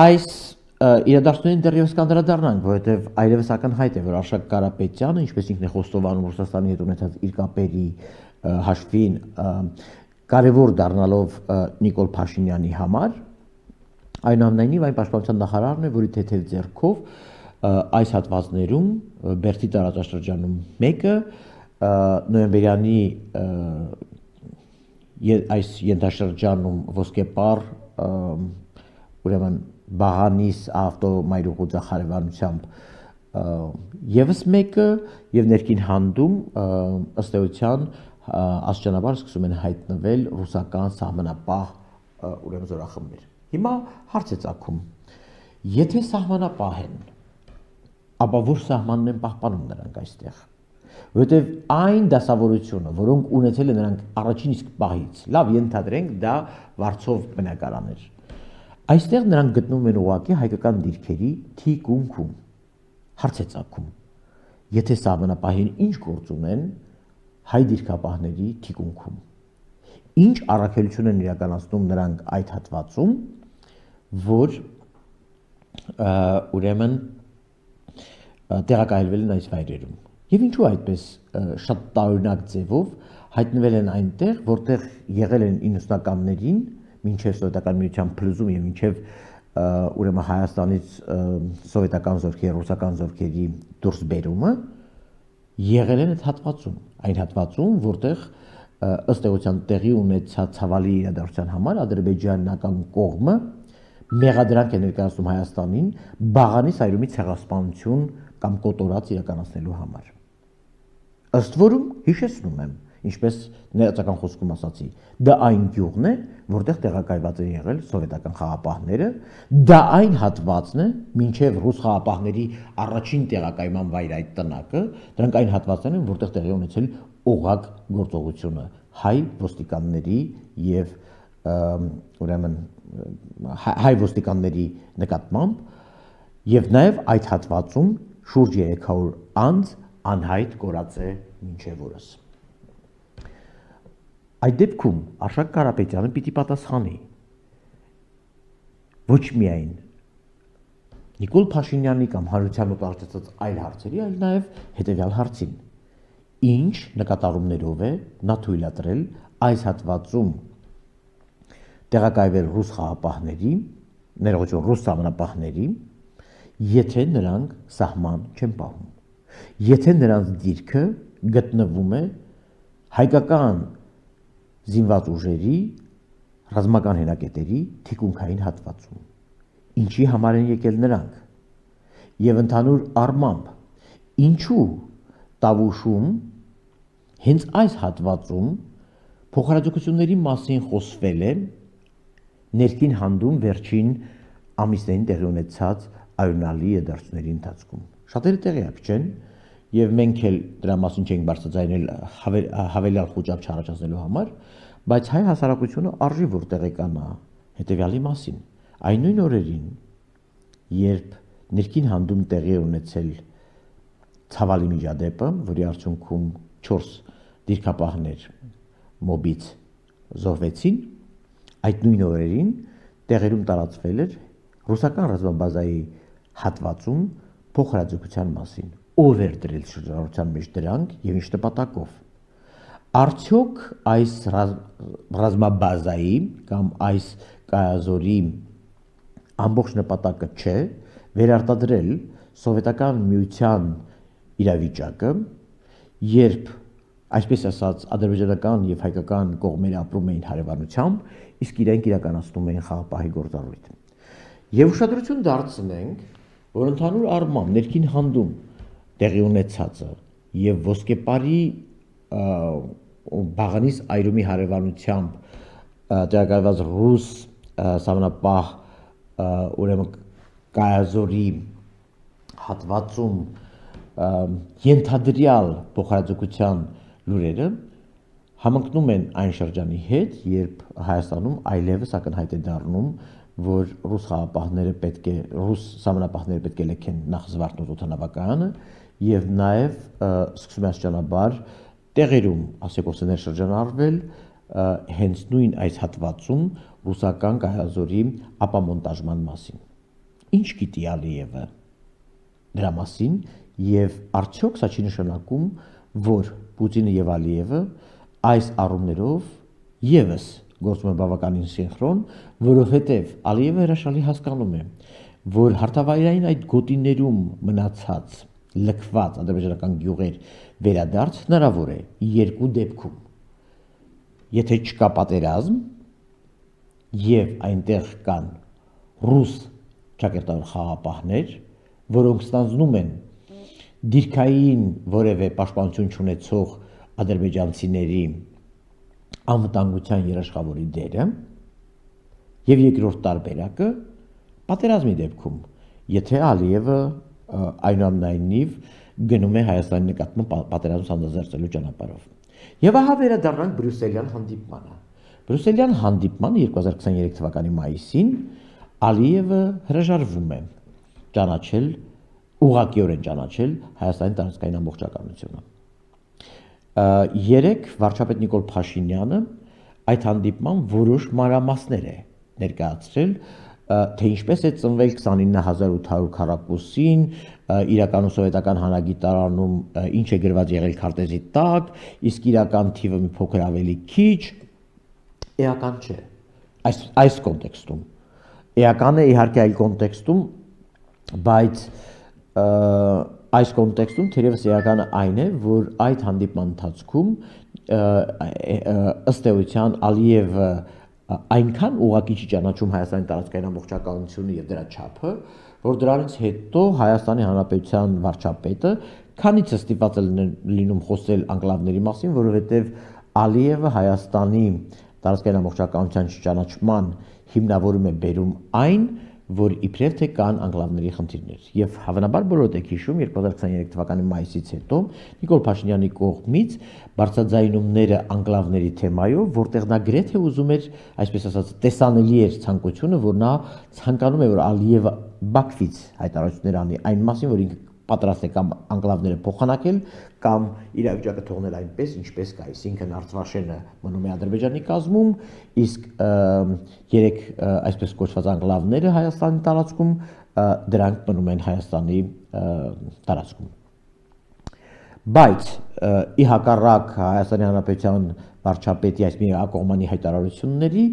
Այս իրադարձություններին դեռևս կանդրադառնանք, որովհետև այլևս ակնհայտ է, որ Արշակ Կարապետյանը, ինչպես ինքն է խոստովանում Ռուսաստանի հետ ունեցած իր կապերի հաշվին, կարևոր դառնալով Նիկոլ Փաշինյանի համար, այնուամենայնիվ այն պաշտպանության նախարարն է, որի թեթև ձեռքով այս հատվածներում Բերդի տարածաշրջանում մեկը նոյեմբերյանի այս ենթաշրջանում ոսկեպար ուրեմն Բաղանիս ավտոմայրուղու ձախարևանությամբ եւս մեկը եւ ներքին հանդում ըստ էության աստիճանաբար սկսում են հայտնվել ռուսական սահմանապահ ուրեմն զորախմբեր։ Հիմա հարց է ծագում. եթե սահմանապահ են, ապա որ սահմանն են պահպանում նրանք այստեղ, որովհետև այն դասավորությունը, որոնք ունեցել են նրանք առաջին իսկ պահից, լավ ենթադրենք դա վարձով բնակարան էր, այստեղ նրանք գտնվում են ուղղակի հայկական դիրքերի թիկունքում։ Հարց է ծագում. եթե սահմանապահին ինչ գործ ունեն հայ դիրքապահների թիկունքում, ինչ առաքելություն են իրականացնում նրանք այդ հատվածում, որ ուրեմն տեղակայելվել են այս վայրերում։ Եվ ինչու այդպես շատ տարօրինակ ձևով հայտնվել են այնտեղ, որտեղ եղել են իննսունականներին, մինչև սովետական միության փլուզում եւ մինչև ուրեմն Հայաստանից սովետական զորքերի, ռուսական զորքերի դուրս բերումը, եղել են այդ հատվածում, այն հատվածում, որտեղ ըստ էության տեղի ունեցած ցավալի իրադարձության համար ադրբեջանական կողմը մեղադրանք է ներկայացնում Հայաստանին Բաղանիս այրումի ցեղասպանություն կամ կոտորած իրականացնելու համար։ Ըստ որում, հիշեցնում եմ, ինչպես ներածական խոսքում ասացի, դա այն գյուղն է, որտեղ տեղակայված են եղել սովետական խաղապահները, դա այն հատվածն է, մինչև ռուս խաղապահների առաջին տեղակայման վայր այդ տնակը, դրանք այն հատվածներն են, որտեղ տեղի ունեցել օղակ գործողությունը հայ ոստիկանների եւ ուրեմն հայ ոստիկանների նկատմամբ եւ նաեւ այդ հատվածում շուրջ երեք հարյուր անձ անհայտ կորած է մինչև օրս։ Այդ դեպքում Արշակ Կարապետյանը պիտի պատասխանի ոչ միայն Նիկոլ Փաշինյանի կամ հանրության մոտ արտացած այլ հարցերի, այլ նաեւ հետեւյալ հարցին. ինչ նկատառումներով է նա թույլատրել այս հատվածում տեղակայվել ռուս խաղապահների, ներողություն, ռուս սահմանապահների, եթե նրանք սահման չեն պահում, եթե նրանց դիրքը գտնվում է հայկական զինված ուժերի, ռազմական հենակետերի թիկունքային հատվածում, ինչի համար են եկել նրանք, եւ ընդհանուր առմամբ ինչու Տավուշում հենց այս հատվածում փոխհարաձգությունների մասին խոսվել է ներքին հանդում վերջին ամիսներին տեղի ունեցած արյունալի իրադարձությունների ընթացքում։ Շատերը տեղյակ չեն եւ մենք էլ դրա մասին չենք բարձրաձայնել հավելյալ խոճապ չառաջացնելու համար, բայց հայ հասարակությունը արժի որ տեղեկանա հետեւյալի մասին։ Այն նույն օրերին, երբ ներքին հանդում տեղի ունեցել ցավալի միջադեպը, որի արդյունքում չորս դիրքապահներ մոբից զոհվեցին, այդ նույն օրերին տեղերում տարածվել էր ռուսական ռազմաբազայի հատվածում փոխհարաձգության մասին։ Ով էր դրել շրջանառության մեջ դրանք եւ ինչ նպատակով։ Արդյոք այս ռազմաբազայի կամ այս կայազորի ամբողջ նպատակը չէ վերարտադրել սովետական միության իրավիճակը, երբ այսպես ասած ադրբեջանական եւ հայկական կողմերը ապրում էին հարևանությամբ, իսկ իրենք իրականացնում էին խաղապահի գործառույթ։ Եվ ուշադրություն դարձնենք, որ ընդհանուր առմամբ ներքին հանդում տեղի ունեցածը եւ ոսկեպարի բաղանիս այրումի հարևանությամբ տեղակայված ռուս սահմանապահ ուրեմն կայազորի հատվածում ենթադրյալ փոխհարաձգության լուրերը համընկնում են այն շրջանի հետ, երբ Հայաստանում այլևս ակնհայտ է դառնում, որ ռուս խաղապահները պետք է ռուս սահմանապահները պետք է լքեն նախ Զվարթնոց օդանավակայանը եւ նաեւ սկսում է աստիճանաբար տեղերում ասեկոսներ շրջանառվել հենց նույն այս հատվածում ռուսական կայազորի ապամոնտաժման մասին։ Ինչ գիտի Ալիևը դրա մասին եւ արդյոք սա չի նշանակում, որ Պուտինը եւ Ալիևը այս առումներով եւս գործում են բավականին սինխրոն, որովհետեւ Ալիևը հրաշալի հասկանում է, որ հարթավայրային այդ գոտիներում մնացած լքված ադրբեջանական գյուղեր վերադարձ հնարավոր է երկու դեպքում։ Եթե չկա պատերազմ եւ այնտեղ կան ռուս ճակերտավոր խաղապահներ, որոնք ստանձնում են դիրքային որևէ պաշտպանություն չունեցող ադրբեջանցիների անվտանգության երաշխավորի դերը, եւ երկրորդ տարբերակը պատերազմի դեպքում, եթե Ալիևը այնուամենայնիվ գնում է Հայաստանի նկատմամբ պատերազմ սանձազերծելու ճանապարհով։ Եվ ահա վերադառնանք Բրյուսելյան հանդիպմանը։ Բրյուսելյան հանդիպմանը երկու հազար քսաներեք թվականի մայիսին Ալիևը հրաժարվում է ճանաչել, ուղղակիորեն ճանաչել Հայաստանի տարածքային ամբողջականությունը։ Երեք վարչապետ Նիկոլ Փաշինյանը այդ հանդիպման որոշ մանրամասներ է ներկայացրել, թե ինչպես է ծնվել քսանինը հազար ութ հարյուր քառակուսին, իրականում սովետական հանագիտարանում ինչ է գրված եղել քարտեզի տակ, իսկ իրական թիվը մի փոքր ավելի քիչ, էական չէ։ Այս այս կոնտեքստում էական է իհարկե այլ կոնտեքստում, բայց այս կոնտեքստում թերևս էականը այն է, որ այդ հանդիպման ընթացքում ըստ էության Ալիևը այնքան ուղղակի չի ճանաչում Հայաստանի տարածքային ամբողջականությունը եւ դրա չափը, որ դրանից հետո Հայաստանի Հանրապետության վարչապետը քանիցս ստիպված է լինում խոսել անկլավների մասին, որովհետեւ Ալիևը Հայաստանի տարածքային ամբողջականության չճանաչման հիմնավորում է բերում այն, որ իբրև թե կան անկլավների խնդիրներ։ Եվ հավանաբար բոլորդ եք հիշում երկու հազար քսաներեք թվականի մայիսից հետո Նիկոլ Փաշինյանի կողմից բարձրաձայնումները անկլավների թեմայով, որտեղ նա գրեթե ուզում էր, այսպես ասած, տեսանելի էր ցանկությունը, որ նա ցանկանում է, որ Ալիևը Բաքվից հայտարարություններ անի այն մասին, որ ինքը պատրաստ է կամ անկլավները փոխանակել կամ իրավիճակը թողնել այնպես, ինչպես կա, այսինքն Արցվաշենը մնում է Ադրբեջանի կազմում, իսկ երեք այսպես կոչված անկլավները Հայաստանի տարածքում դրանք մնում են Հայաստանի տարածքում։ Բայց ի հակառակ Հայաստանի Հանրապետության վարչապետի այս միակողմանի հայտարարությունների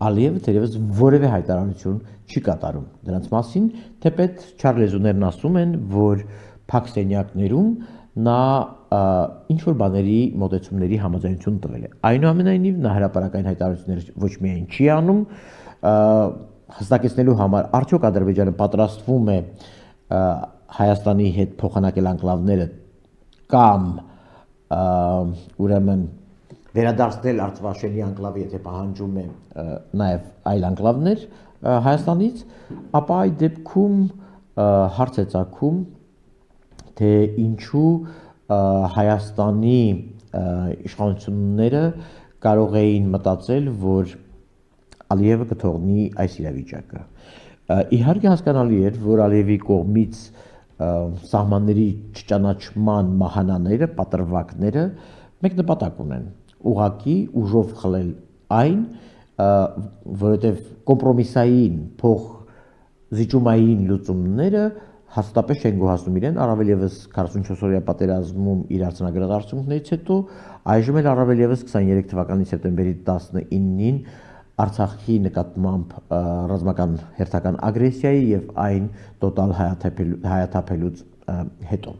Ալիևը թերևս որևէ հայտարարություն չի կատարում դրանց մասին, թեպետ չար լեզուներն ասում են, որ փակ սենյակներում նա ինչ-որ բաների մոտեցումների համաձայնություն տվել է։ Այնուամենայնիվ նա հրապարակային հայտարարություններ ոչ միայն չի անում, հստակեցնելու համար արդյոք Ադրբեջանը պատրաստվում է Հայաստանի հետ փոխանակել անկլավները կամ ուրեմն վերադարձնել Արցախի անկլավը, եթե պահանջում է նաև այլ անկլավներ Հայաստանից, ապա այդ դեպքում հարց է ծագում, թե ինչու Հայաստանի իշխանությունները կարող էին մտածել, որ Ալիևը կթողնի այս իրավիճակը։ Իհարկե հասկանալի էր, որ Ալիևի կողմից սահմանների չճանաչման մահանաները, պատրվակները մեկ նպատակ ունեն՝ ուղղակի ուժով խլել այն, որովհետև կոմպրոմիսային փող զիջումային լուծումները հաստատապես չեն գոհացնում իրեն, առավել ևս քառասունչորս օրյա պատերազմում իր արձանագրած արդյունքներից հետո, այժմ էլ առավել ևս քսաներեք թվականի սեպտեմբերի տասնինին Արցախի նկատմամբ ռազմական հերթական ագրեսիայի եւ այն տոտալ հայաթափելուց հետո։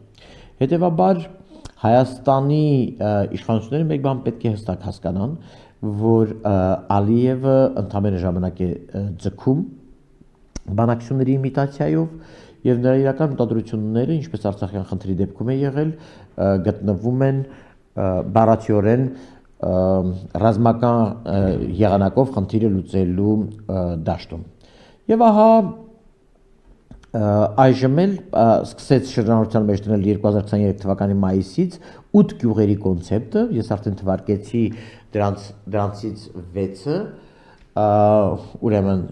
Հետևաբար Հայաստանի իշխանությունները մեկ բան պետք է հստակ հասկանան, որ Ալիևը ընդամենը ժամանակ է ձգում բանակցությունների իմիտացիայով եւ նրա իրական մտադրությունները, ինչպես Արցախյան խնդրի դեպքում է եղել, գտնվում են բառացիորեն ռազմական եղանակով խնդիրը լուծելու դաշտում։ Եվ ահա այժմ էլ սկսեց շրջանառության մեջ դնել երկու հազար քսաներեք թվականի մայիսից ութ գյուղերի կոնցեպտը, ես արդեն թվարկեցի դրանց դրանցից վեցը, ուրեմն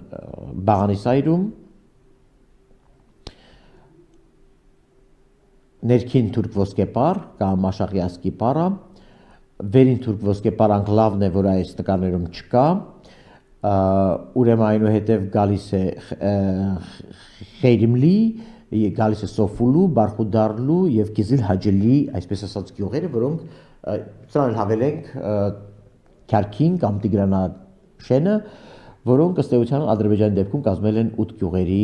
Բաղանիսայրում, ներքին թուրք ոսկեպար կամ Աշախիասկի պարա, վերին թուրք ոսկեպար անկլավն է, որ այս նկարներում չկա, ուրեմն այնուհետև գալիս է Խեյրիմլի, գալիս է Սոֆուլու, Բարխուդարլու եւ Կիզիլ Հաջելի, այսպես ասած գյուղերը, որոնք սրանք հավելենք Քարքին կամ Տիգրանաշենը, որոնք ըստ էության Ադրբեջանի դեպքում կազմել են ութ գյուղերի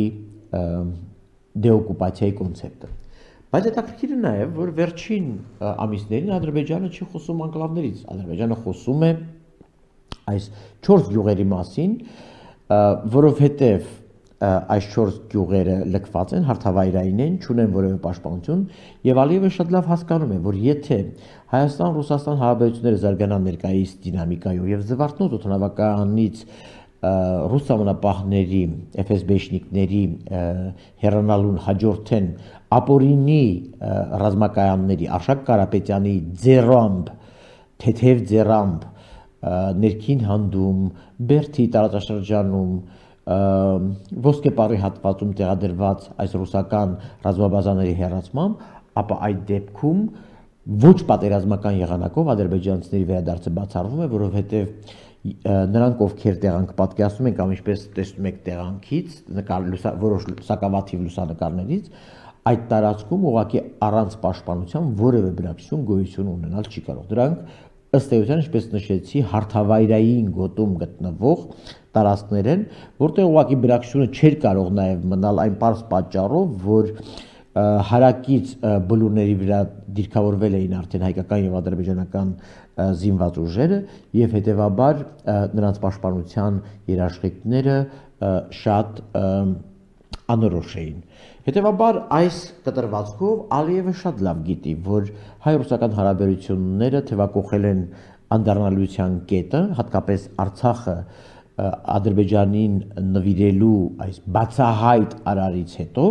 դեօկուպացիայի կոնցեպտը։ Բայց հետաքրքիրը նաև, որ վերջին ամիսներին Ադրբեջանը չի խոսում անկլավներից, Ադրբեջանը խոսում է այս չորս գյուղերի մասին, որովհետև այս չորս գյուղերը լքված են, հարթավայրային են, չունեն որևէ պաշտպանություն, եւ Ալիևը շատ լավ հասկանում է, որ եթե Հայաստան-Ռուսաստան հարաբերությունները զարգանան ներկայիս դինամիկայով եւ Զվարթնոց օդանավականից ռուս ամենապահների, Էֆ Էս Բեշնիկների հեռանալուն հաջորդեն ապօրինի ռազմակայանների, Արշակ Կարապետյանի ձեռամբ, թեթև ձեռամբ ներքին հանդում, Բերդի տարածաշրջանում, ոսկեպարի հատվածում տեղադրված այս ռուսական ռազմաբազաների հեռացմամբ, ապա այդ դեպքում ոչ պատերազմական եղանակով ադրբեջանցիների վերադարձը բացառվում է, որովհետև նրանք ովքեր տեղանք պատկերացնում են կամ ինչպես տեսնում եք տեղանքից, որոշ սակավաթիվ լուսանկարներից, այդ տարածքում ուղղակի առանց պաշտպանության որևէ բնակչություն գոյություն ունենալ չի կարող։ Դրանք ըստ էության, ինչպես նշեցի, հարթավայրային գոտում գտնվող տարածքներ են, որտեղ ուղղակի բնակչությունը չէր կարող նաև մնալ այն պարզ պատճառով, որ հարակից բլուրների վրա դիրքավորվել էին արդեն հայկական եւ ադրբեջանական զինված ուժերը եւ հետեւաբար նրանց պաշտպանության երաշխիքները շատ անորոշ էին։ Հետևաբար այս կտրվածքով Ալիևը շատ լավ գիտի, որ հայ-ռուսական հարաբերությունները թևակողել են անդառնալիության կետը, հատկապես Արցախը Ադրբեջանին նվիրելու այս բացահայտ արարից հետո,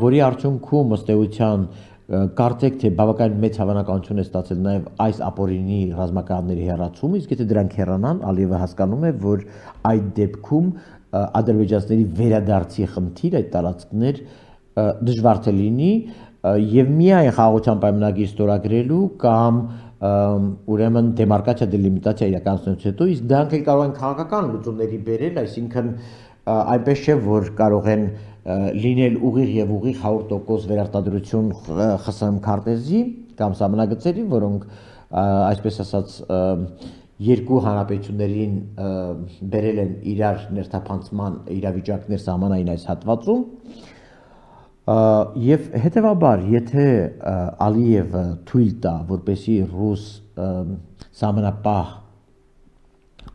որի արդյունքում ըստ էության կարծեք թե բավական մեծ հավանականություն է ստացել նաև այս ապօրինի ռազմականների հեռացումը, իսկ եթե դրանք հեռանան, Ալիևը հասկանում է, որ այդ դեպքում ադրբեջանցիների վերադարձի խնդիր այդ տարածքներ դժվար թե լինի եւ միայն խաղաղության պայմանագիր ստորագրելու կամ ուրեմն դեմարկացիա դելիմիտացիա իրականացնելուց հետո, իսկ դրանք էլ կարող են քաղաքական լուծումների բերել, այսինքն այնպես չէ, որ կարող են լինել ուղիղ եւ ուղիղ հարյուր տոկոս վերարտադրություն Խ ՍՀՄ քարտեզի կամ սահմանագծերի, որոնք այսպես ասած երկու հանրապետություններին բերել են իրար ներթափանցման իրավիճակներ սահմանային այս հատվածում եւ հետեւաբար եթե Ալիևը թույլ տա, որպեսի ռուս սահմանապահ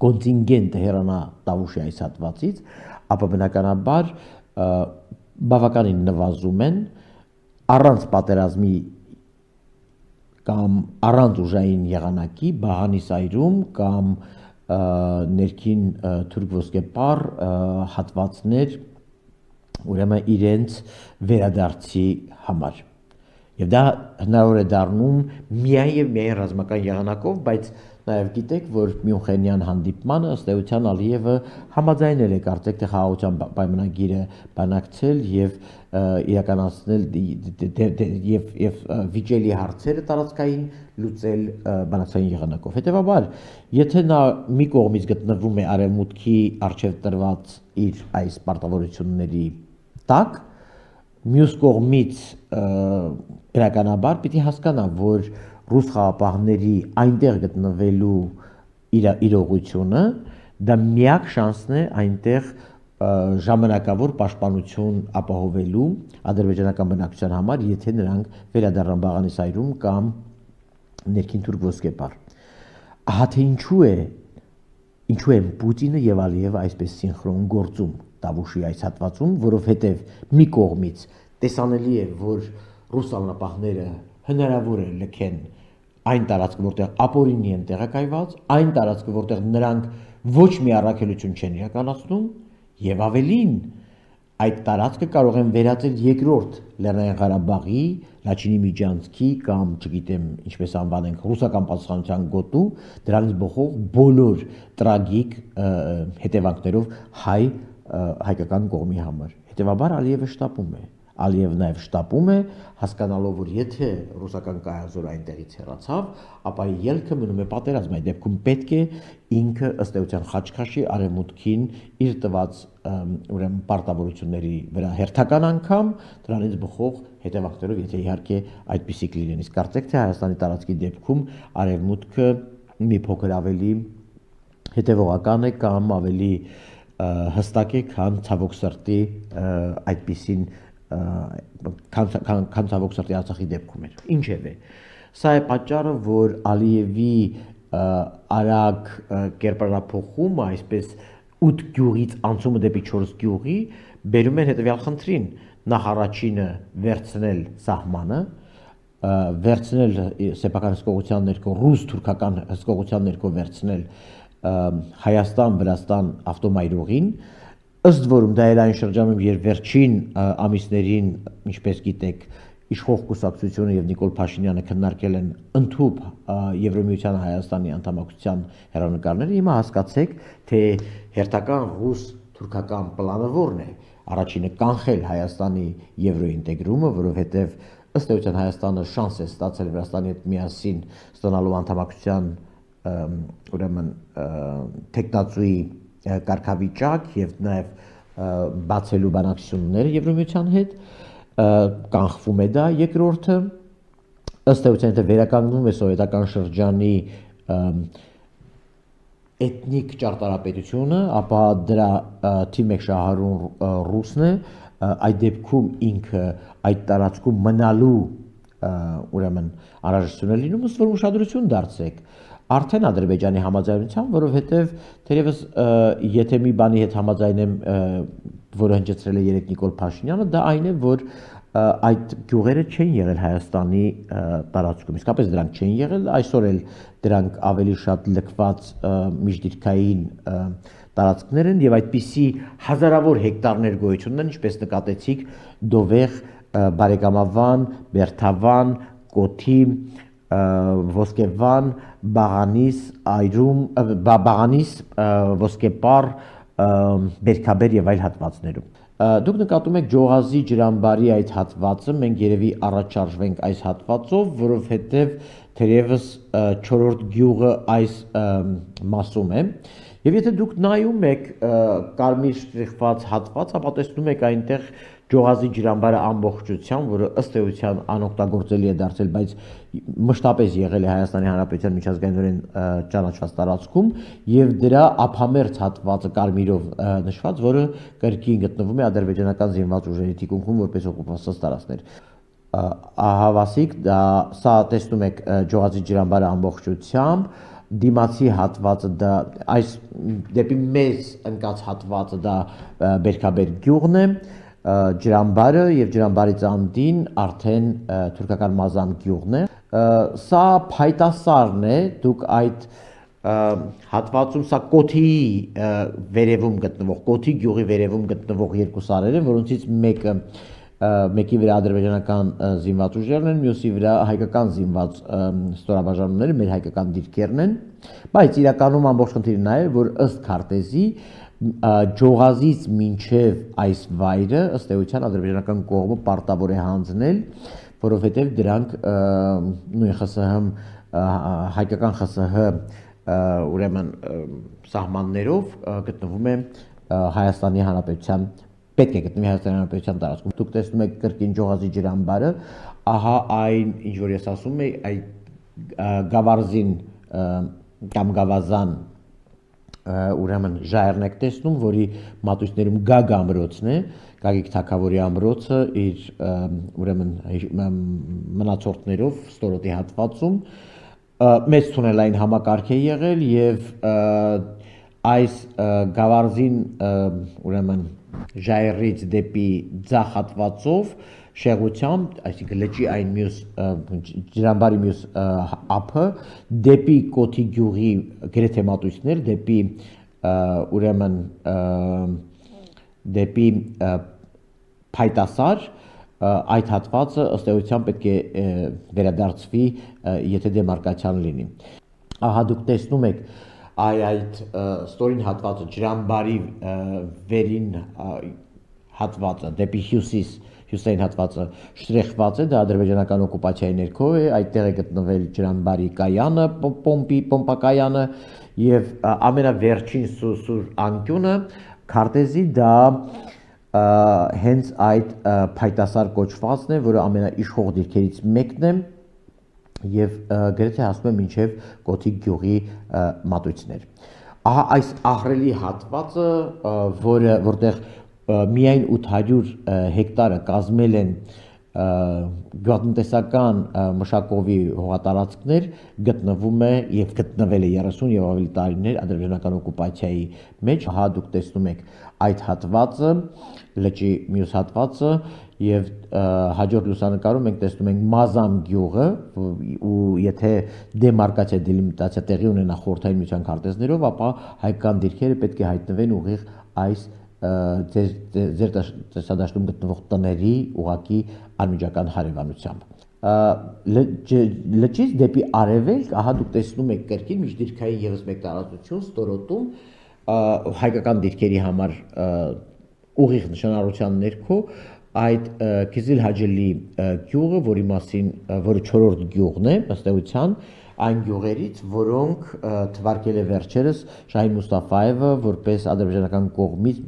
կոնտինգենտը հեռանա Տավուշի այս հատվածից, ապա բնականաբար բավականին նվազում են առանց պատերազմի կամ առանց ուժային եղանակի Բաղանի սայրում կամ ներքին թուրք ոսկեպար հատվածներ ուրեմն իրենց վերադարձի համար։ Եվ դա հնարավոր է դառնում միայն եւ միայն ռազմական եղանակով, բայց նաև գիտեք, որ Մյունխենյան հանդիպմանը ըստ էության Ալիևը համաձայնել է կարծեք թե խաղաղության պայմանագիրը բանակցել եւ իրականացնել եւ եւ վիճելի հարցերը տարածքային լուծել բանակցային եղանակով։ Հետևաբար, եթե նա մի կողմից գտնվում է արևմուտքի արժեվ տրված իր այս պարտավորությունների տակ, մյուս կողմից իրականաբար պիտի հասկանա, որ ռուս խաղապահների այնտեղ գտնվելու իրողությունը դա միակ շանսն է այնտեղ ժամանակավոր պաշտպանություն ապահովելու ադրբեջանական բնակչության համար, եթե նրանք վերադառնան Բաղանի սայրում կամ ներքին թուրք ոսկեպար։ Ահա թե ինչու է ինչու է Պուտինը եւ Ալիևը այսպես սինխրոն գործում Տավուշի այս հատվածում, որովհետեւ մի կողմից տեսանելի է, որ ռուս անապահները հնարավոր է լքեն այն տարածքը, որտեղ ապօրինի են տեղակայված, այն տարածքը, որտեղ նրանք ոչ մի առաքելություն չեն իրականացնում, եւ ավելին, այդ տարածքը կարող են վերածել երկրորդ Լեռնային Ղարաբաղի, Լաչինի Միջանցքի կամ, չգիտեմ, ինչպես անվանենք, ռուսական պատասխանության գոտու, դրանից բխող բոլոր տրագիկ հետևանքներով հայ հայկական կողմի համար։ Հետևաբար Ալիևը շտապում է։ Ալիևը նաև շտապում է, հասկանալով, որ եթե ռուսական կայազորը այնտեղից հեռացավ, ապա ելքը մնում է պատերազմ, այդ դեպքում պետք է ինքը ըստ էության խաչքաշի արևմուտքին իր տված ուրեմն պարտավորությունների վրա հերթական անգամ դրանից բխող հետևանքներով, եթե իհարկե այդպիսի կլինեն։ Իսկ կարծեք թե Հայաստանի տարածքի դեպքում արևմուտքը մի փոքր ավելի հետևողական է կամ ավելի հստակ է, քան ցավոք սրտի այդպիսին քան ցավոք սրտի Արցախի դեպքում էր։ Ինչևէ, սա է պատճառը, որ Ալիևի արագ կերպարափոխումը, այսպես ութ գյուղից անցումը դեպի չորս գյուղի, բերում են հետևյալ խնդրին. նախ առաջինը վերցնել սահմանը, վերցնել սեփական հսկողության ներքո, ռուս-թուրքական հսկողության ներքո վերցնել Հայաստան-Վրաստան ավտոմայրուղին, ըստ որում դա էր այն շրջանում, երբ վերջին ամիսներին, ինչպես գիտեք, իշխող կուսակցությունը եւ Նիկոլ Փաշինյանը քննարկել են ընդհանուր Եվրոմիության Հայաստանի անդամակցության հեռանկարները, հիմա հասկացեք, թե հերթական ռուս-թուրքական պլանը որն է։ Առաջինը կանխել Հայաստանի եվրոինտեգրումը, որովհետեւ ըստ էության Հայաստանը շանս է ստացել Վրաստանի հետ միասին ստանալու անդամակցության ուրեմն տեխնացուի կարգավիճակ եւ նաեւ բացելու բանակցությունները Եվրոմիության հետ, կանխվում է դա։ Երկրորդը ըստ էության թե վերականգնվում է սովետական շրջանի էթնիկ ճարտարապետությունը, ապա դրա թիվ մեկ շահառուն ռուսն է, այդ դեպքում ինքը այդ տարածքում մնալու ուրեմն անհրաժեշտություն է լինում, ըստ որում ուշադրություն դարձրեք արդեն Ադրբեջանի համաձայնությամբ, որովհետև թերևս եթե մի բանի հետ համաձայնեմ, որը հնչեցրել է երեք Նիկոլ Փաշինյանը, դա այն է, որ այդ գյուղերը չեն եղել Հայաստանի տարածքում, իսկապես դրանք չեն եղել, այսօր էլ դրանք ավելի շատ լքված միջդիրքային տարածքներ են եւ այդպիսի հազարավոր հեկտարներ գոյություն ունեն, ինչպես նկատեցիք Դովեղ, Բարեկամավան, Բերթավան, Կոթի, Ոսկեվան, Բաղանիս, Այրում, Բաղանիս, Ոսկեպար, Բերքաբեր եւ այլ հատվածներում։ Դուք նկատում եք Ջողազի ջրամբարի այդ հատվածը, մենք երևի առաջարժվենք այս հատվածով, որովհետեւ թերևս չորրորդ գյուղը այս մասում է։ Եվ եթե դուք նայում եք կարմիր շտրիխված հատված, ապա տեսնում եք այնտեղ Ջողազի ջրամբարը ամբողջությամբ, որը ըստ էության անօգտագործելի է դարձել, բայց մշտապես եղել է Հայաստանի Հանրապետության միջազգայինորեն ճանաչված տարածքում, եւ դրա ափամերձ հատվածը կարմիրով նշված, որը կրկին գտնվում է ադրբեջանական զինված ուժերի թիկունքում որպես օկուպացված տարածքներ։ Ահավասիկ, դա սա տեսնում եք Ջողազի ջրամբարը ամբողջությամբ, դիմացի հատվածը դա այս դեպի մեզ ընկած հատվածը դա Բերքաբեր գյուղն է, ջրամբարը եւ ջրամբարից անդին արդեն թուրքական մազան գյուղն է։ Սա փայտասարն է, դուք այդ հատվածում սա Կոթի վերևում գտնվող, Կոթի գյուղի վերևում գտնվող երկու սարեր են, որոնցից մեկը մեկի վրա ադրբեջանական զինված ուժերն են, մյուսի վրա հայկական զինված ստորաբաժանումները, մեր հայկական դիրքերն են, բայց իրականում ամբողջ խնդիրը նա է, որ ըստ քարտեզի Ջողազից մինչև այս վայրը ըստ էության ադրբեջանական կողմը պարտավոր է հանձնել, որովհետև դրանք նույն ԽՍՀ հայկական ԽՍՀ ուրեմն սահմաններով գտնվում է Հայաստանի Հանրապետության պետք է գտնվի Հայաստանի Հանրապետության տարածքում։ Դուք տեսնում եք կրկին Ջողազի ջրամբարը, ահա այն, ինչ որ ես ասում եմ, այդ Գավառզին կամ Գավազան ուրեմն ժայռն եք տեսնում, որի մատույցներում Գագ ամրոցն է, Գագիկ Թագավորի ամրոցը իր ուրեմն մնացորդներով ստորոտի հատվածում մեծ թունելային համակարգ է եղել եւ այս Գավառզին ուրեմն ժայռից դեպի ձախ հատվածով շեղությամբ, այսինքն լճի այն մյուս ջրամբարի մյուս ափը դեպի Կոթի գյուղի գրեթե մատույցներ, դեպի ուրեմն դեպի փայտասար այդ հատվածը ըստ էության պետք է վերադարձվի, եթե դեմարկացիան լինի։ Ահա դուք տեսնում եք այ այդ ստորին հատվածը ջրամբարի վերին հատվածը դեպի հյուսիս հյուսային հատվածը շտրեխված է, դա ադրբեջանական օկուպացիայի ներքո է, այդտեղ է գտնվել ջրամբարի կայանը, պոմպի պոմպակայանը եւ ամենավերջին սուր անկյունը քարտեզի դա հենց այդ փայտասար կոչվածն է, որը ամենաիշխող դիրքերից մեկն է եւ գրեթե հասնում է մինչեւ Կոթի գյուղի մատույցներ։ Ահա այս ահռելի հատվածը, որը որտեղ միայն ութ հարյուր հեկտարը կազմել են գյուղատնտեսական մշակովի հողատարածքներ, գտնվում է եւ գտնվել է երեսուն եւ ավելի տարիներ ադրբեջանական օկուպացիայի մեջ։ Ահա դուք տեսնում եք այդ հատվածը, լճի մյուս հատվածը եւ հաջորդ լուսանկարում մենք տեսնում ենք Մազան գյուղը ու եթե դեմարկացիա դելիմիտացիա տեղի ունենա խորհրդային միության քարտեզներով, ապա հայկական դիրքերը պետք է հայտնվեն ուղիղ այս ձեր տեսադաշտում գտնվող տների ուղակի անմիջական հարևանությամբ։ Լճից դեպի արևելք, ահա դուք տեսնում եք կրկին միջդիրքային եւս մեկ տարածություն ստորոտում հայկական դիրքերի համար ուղիղ նշանառության ներքո այդ Քիզիլ Հաջելի գյուղը, որի մասին, որը չորրորդ գյուղն է, ըստ էության, այն գյուղերից, որոնք թվարկել է վերջերս Շահին Մուստաֆայևը որպես ադրբեջանական կողմից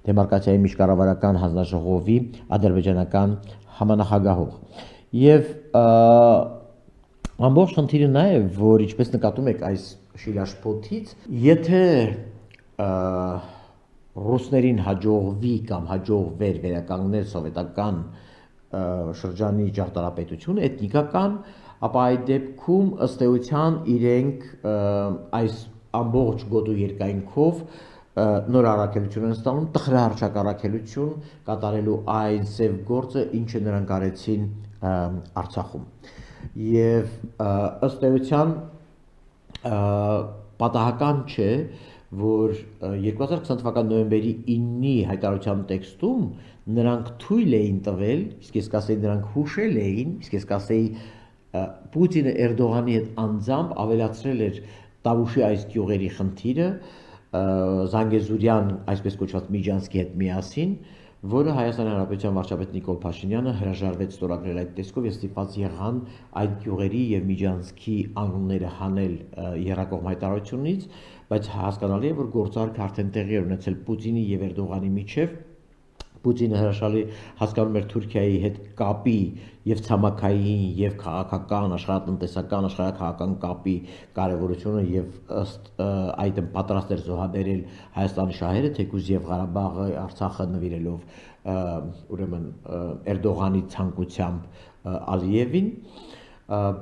դեմարկացիայի միջկառավարական հանձնաժողովի ադրբեջանական համանախագահող։ Եվ ամբողջ խնդիրը նա է, որ ինչպես նկատում եք այս շիլաշփոթից, եթե ռուսներին հաջողվի կամ հաջողվեր վերականգնել սովետական շրջանի ճարտարապետությունը, էթնիկական, ապա այդ դեպքում ըստ էության իրենք այս ամբողջ գոտու երկայնքով նոր առաքելություն են ստանում, տխրահարչակ առաքելություն կատարելու այն սև գործը, ինչը նրանք արեցին Արցախում։ Եվ ըստ էության պատահական չէ, որ երկու հազար քսան թվականի նոյեմբերի իննի հայտարարության տեքստում նրանք թույլ էին տվել, իսկ ես կասեի նրանք հուշել էին, իսկ ես կասեի Պուտինը Էրդողանի հետ անձամբ ավելացրել էր Տավուշի այս գյուղերի խնդիրը Զանգեզուրյան, այսպես կոչված Միջանսկի հետ միասին, որը Հայաստանի Հանրապետության վարչապետ Նիկոլ Փաշինյանը հրաժարվեց ստորագրել այդ տեսքով եւ ստիպված եղան այդ գյուղերի եւ Միջանսկի անկյունները հանել եռակողմ հայտարարությունից, բայց հասկանալի է, որ գործարքը արդեն տեղի է ունեցել Պուտինի եւ Էրդողանի միջեւ։ Պուտինը հրաշալի հասկանում էր Թուրքիայի հետ կապի եւ ցամաքային եւ քաղաքական, աշխարհատնտեսական, աշխարհաքաղաքական կապի կարեւորությունը եւ ըստ այդմ պատրաստ էր զոհաբերել Հայաստանի շահերը, թեկուզ եւ Ղարաբաղը, Արցախը նվիրելով ուրեմն Էրդողանի ցանկությամբ Ալիևին,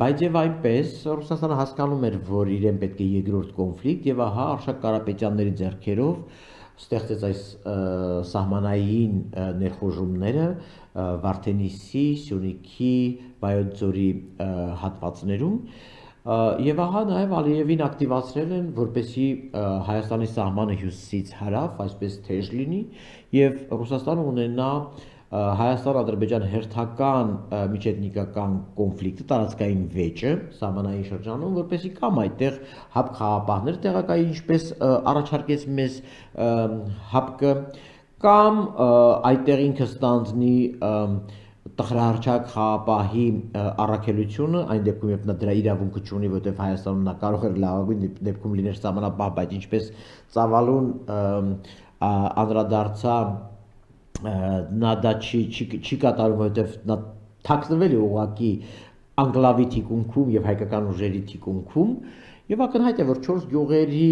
բայց եւ այնպես Ռուսաստանը հասկանում էր, որ իրեն պետք է երկրորդ կոնֆլիկտ եւ ահա Արշակ Կարապետյանների ձեռքերով ստեղծեց այս սահմանային ներխուժումները Վարդենիսի, Սյունիքի, Վայոց ձորի հատվածներում եւ ահա նաեւ Ալիևին ակտիվացրել են, որպեսզի Հայաստանի սահմանը հյուսիսից հարավ այսպես թեժ լինի եւ Ռուսաստանը ունենա Հայաստան-Ադրբեջան հերթական միջեթնիկական կոնֆլիկտը, տարածքային վեճը սահմանային շրջանում, որպեսզի կամ այդտեղ հապկ խաղապահներ տեղակայի, ինչպես առաջարկեց մեզ հապկը, կամ այդտեղ ինքը ստանձնի տխրահարչակ խաղապահի առաքելությունը, այն դեպքում երբ նա դրա իրավունքը չունի, որտեղ Հայաստանում նա կարող էր լավագույն դեպքում լիներ սահմանապահ, բայց ինչպես ծավալուն անդրադարձա նա դա չի, չի, չի կատարում, որովհետև նա թաքնվել է ուղղակի անկլավի թիկունքում եւ հայկական ուժերի թիկունքում եւ ակնհայտ է, որ չորս գյուղերի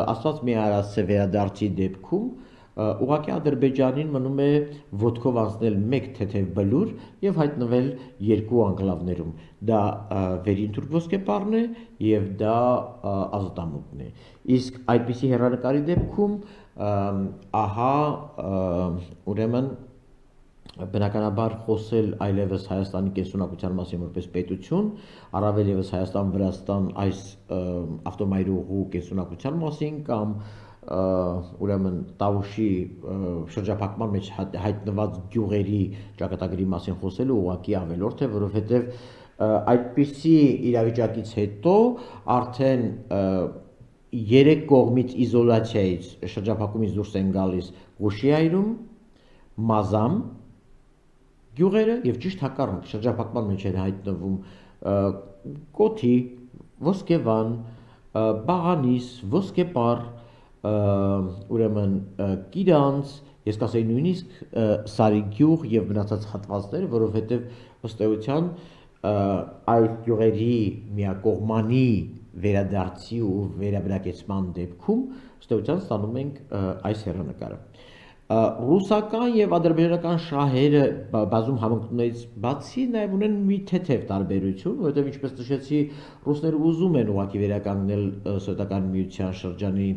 աստված մի արածը վերադարձի դեպքում ուղղակի Ադրբեջանին մնում է ոտքով անցնել մեկ թեթև բլուր եւ հայտնվել երկու անկլավներում, դա Վերին Թուրք ոսկեպարն է եւ դա Ազատամուտն է, իսկ այդպիսի հեռանկարի դեպքում ահա ուրեմն բնականաբար խոսել այլևս Հայաստանի կենսունակության մասին որպես պետություն, առավել ևս Հայաստան-Վրաստան այս ավտոմայրուղու կենսունակության մասին կամ ուրեմն Տավուշի շրջափակման մեջ հայտնված գյուղերի ճակատագրի մասին խոսելու ուղղակի ավելորդ է, որովհետև այդպիսի իրավիճակից հետո արդեն երեք կողմից իզոլացիայից շրջափակումից դուրս են գալիս Ղուշիայրում, Մազամ գյուղերը եւ ճիշտ հակառակ շրջափակման մեջ են հայտնվում Կոթի, Ոսկեվան, Բաղանիս, Ոսկեպար, ուրեմն Կիրանց, ես կասեի նույնիսկ Սարիգյուղ եւ մնացած հատվածները, որովհետեւ ըստ էության այս գյուղերի միակողմանի վերադարձի ու վերաբնակեցման դեպքում ըստ էության ստանում ենք այս հեռանկարը։ Ռուսական եւ ադրբեջանական շահերը բազում համընկնություններից բացի նաեւ ունեն մի թեթև տարբերություն, որովհետեւ ինչպես նշեցի, ռուսները ուզում են ուղղակի վերականգնել Սովետական միության շրջանի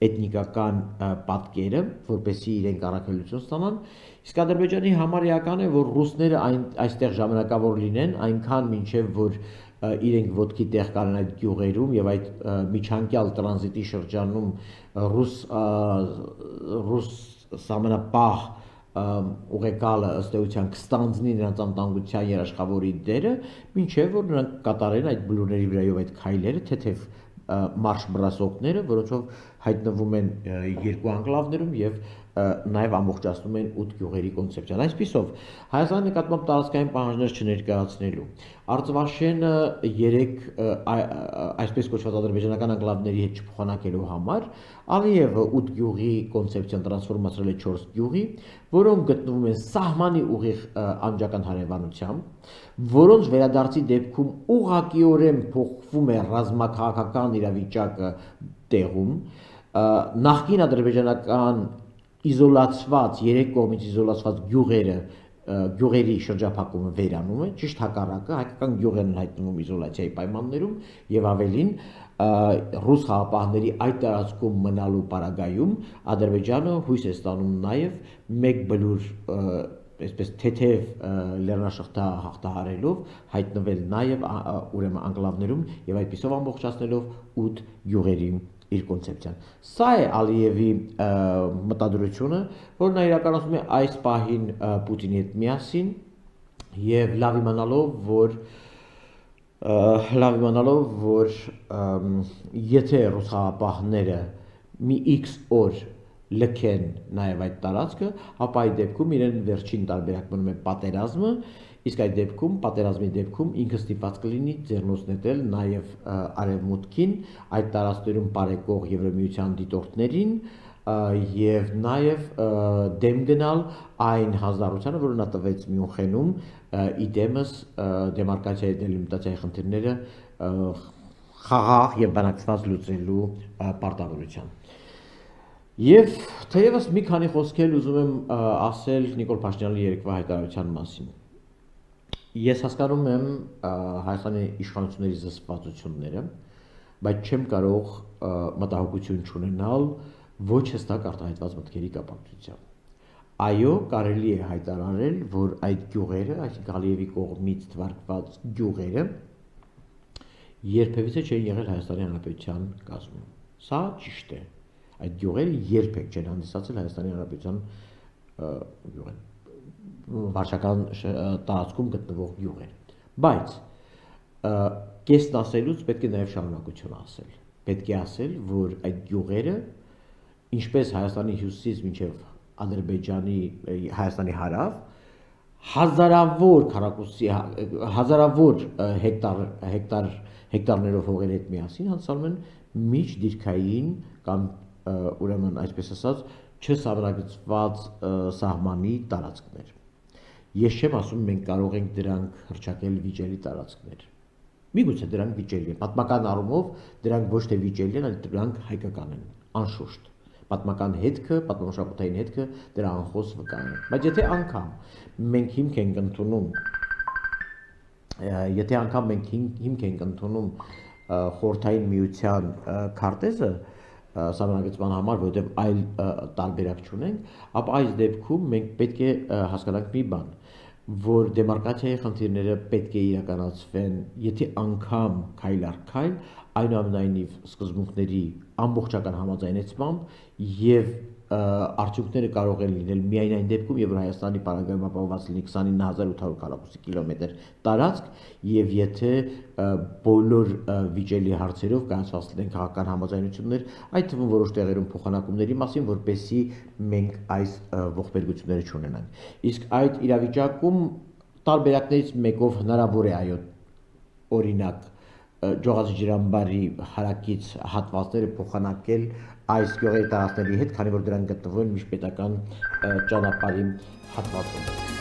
էթնիկական պատկերը, որպեսզի իրենք առաքելություն ստանան, իսկ Ադրբեջանի համար էական է, որ ռուսները այստեղ ժամանակավոր լինեն, այնքան մինչև որ իրենք ոտքի տեղ կանեն այդ գյուղերում եւ այդ միջանկյալ տրանզիտի շրջանում ռուս ռուս սահմանապահ ուղեկալը ըստ էության կստանձնի նրանց անվտանգության երաշխավորի դերը, մինչև որ նրանք կատարեն այդ բլուրների վրայով այդ քայլերը, թեթև մարշ բռասողները, որոնցով հայտնվում են երկու անկլավներում եւ նաեւ ամբողջացնում են ութ գյուղերի կոնցեպցիան։ Այսպիսով Հայաստանի նկատմամբ տարածքային պահանջներ չներկայացնելու, Արցվաշենը երեք այսպես կոչված ադրբեջանական անկլավների հետ չփոխանակելու համար Ալիևը ութ գյուղի կոնցեպցիան տրանսֆորմացրել է չորս գյուղի, որոնք գտնվում են սահմանի ուղիղ անջական հարևանությամբ, որոնց վերադարձի դեպքում ուղղակիորեն փոխվում է ռազմաքաղաքական իրավիճակը տեղում, նախկին ադրբեջանական իզոլացված, երեք կողմից իզոլացված գյուղերը, գյուղերի շրջափակումը վերանում է, ճիշտ հակառակը, հայկական գյուղերն հայտնվում իզոլացիայի պայմաններում եւ ավելին ռուս խաղապահների այդ տարածքում մնալու պարագայում Ադրբեջանը հույս է ստանում նաեւ մեկ բլուր այսպես թեթև լեռնաշղթա հաղթահարելով հայտնվել նաեւ ուրեմն անկլավներում եւ այդպիսով ամբողջացնելով ութ գյուղերի իր կոնցեպցիան։ Սա է Ալիևի մտադրությունը, որ նա իրականացնում է այս պահին Պուտինի հետ միասին եւ լավ իմանալով, որ լավ իմանալով, որ եթե ռուս խաղապահները մի X օր լքեն նաեւ այդ տարածքը, ապա այդ դեպքում իրեն վերջին տարբերակ մնում է պատերազմը, իսկ այդ դեպքում պատերազմի դեպքում ինքը ստիպված կլինի ձեռնոցնել նաեւ արևմուտքին, այդ տարածքներում բարեկող Եվրամիության դիտորդներին եւ նաեւ դեմ գնալ այն հանձնառությանը, որը նա տվեց Մյունխենում իդեմս դեմարկացիայի դելիմիտացիայի խնդիրները խաղաղ եւ բանակցված լուծելու պարտավորության։ Եվ թեևս մի քանի խոսքեր ուզում եմ ասել Նիկոլ Փաշինյանի երեկվա հայտարարության մասին։ Ես հասկանում եմ Հայաստանի իշխանությունների զսպվածությունները, բայց չեմ կարող մտահոգություն չունենալ ոչ հստակ արտահայտված մտքերի կապակցությամբ։ Այո, կարելի է հայտարարել, որ այդ գյուղերը, այսինքն Ալիևի կողմից թվարկված գյուղերը երբևիցե չեն եղել Հայաստանի Հանրապետության կազմում։ Սա ճիշտ է։ Այդ գյուղերը երբեք չեն հանդիսացել Հայաստանի Հանրապետության գյուղեր, վարչական տարածքում գտնվող գյուղեր։ Բայց կեսն ասելուց պետք է նաև շարունակություն ասել։ Պետք է ասել, որ այդ գյուղերը, ինչպես Հայաստանի հյուսիսից մինչև Ադրբեջանի, Հայաստանի հարավ, հազարավոր քառակուսի, հազարավոր հեկտար, հեկտար, հեկտարներով հողերի հետ միասին անցալում են միջդիրքային կամ ուրեմն այսպես ասած չսահմանագծված սահմանի տարածքներ։ Ես չեմ ասում մենք կարող ենք դրանք հռչակել վիճելի տարածքներ։ Միգուցե դրանք վիճելի են։ Պատմական առումով դրանք ոչ թե վիճելի են, այլ դրանք հայկական են, անշուշտ։ Պատմական հետքը, պատմամշակութային հետքը դրա անխոս վկա է։ Բայց եթե անգամ մենք հիմք ենք ընդունում, եթե անգամ մենք հիմք ենք ընդունում խորհրդային միության քարտեզը սահմանագծման համար, որովհետև այլ տարբերակ չունենք, ապա այս դեպքում մենք պետք է հասկանանք մի բան, որ դեմարկացիայի խնդիրները պետք է իրականացվեն, եթե անգամ քայլ առ քայլ, այնուամենայնիվ սկզբունքների ամբողջական համաձայնեցմամբ եւ արդյունքները կարող են լինել միայն այն դեպքում, երբ Հայաստանի պարագայում ապահովված լինի քսանինը հազար ութ հարյուր քառակուսի կիլոմետր տարածք եւ եթե բոլոր վիճելի հարցերով կայացված լինեն քաղաքական համաձայնություններ, այդ թվում որոշ տեղերում փոխանակումների մասին, որպեսզի մենք այս ողբերգությունները չունենանք։ Իսկ այդ իրավիճակում տարբերակներից մեկով հնարավոր է այո օրինակ Ջողազի ջրամբարի հարակից հատվածները փոխանակել այս գյուղերի տարածքների հետ, քանի որ դրանք գտնվում են միջպետական ճանապարհի հատվածում։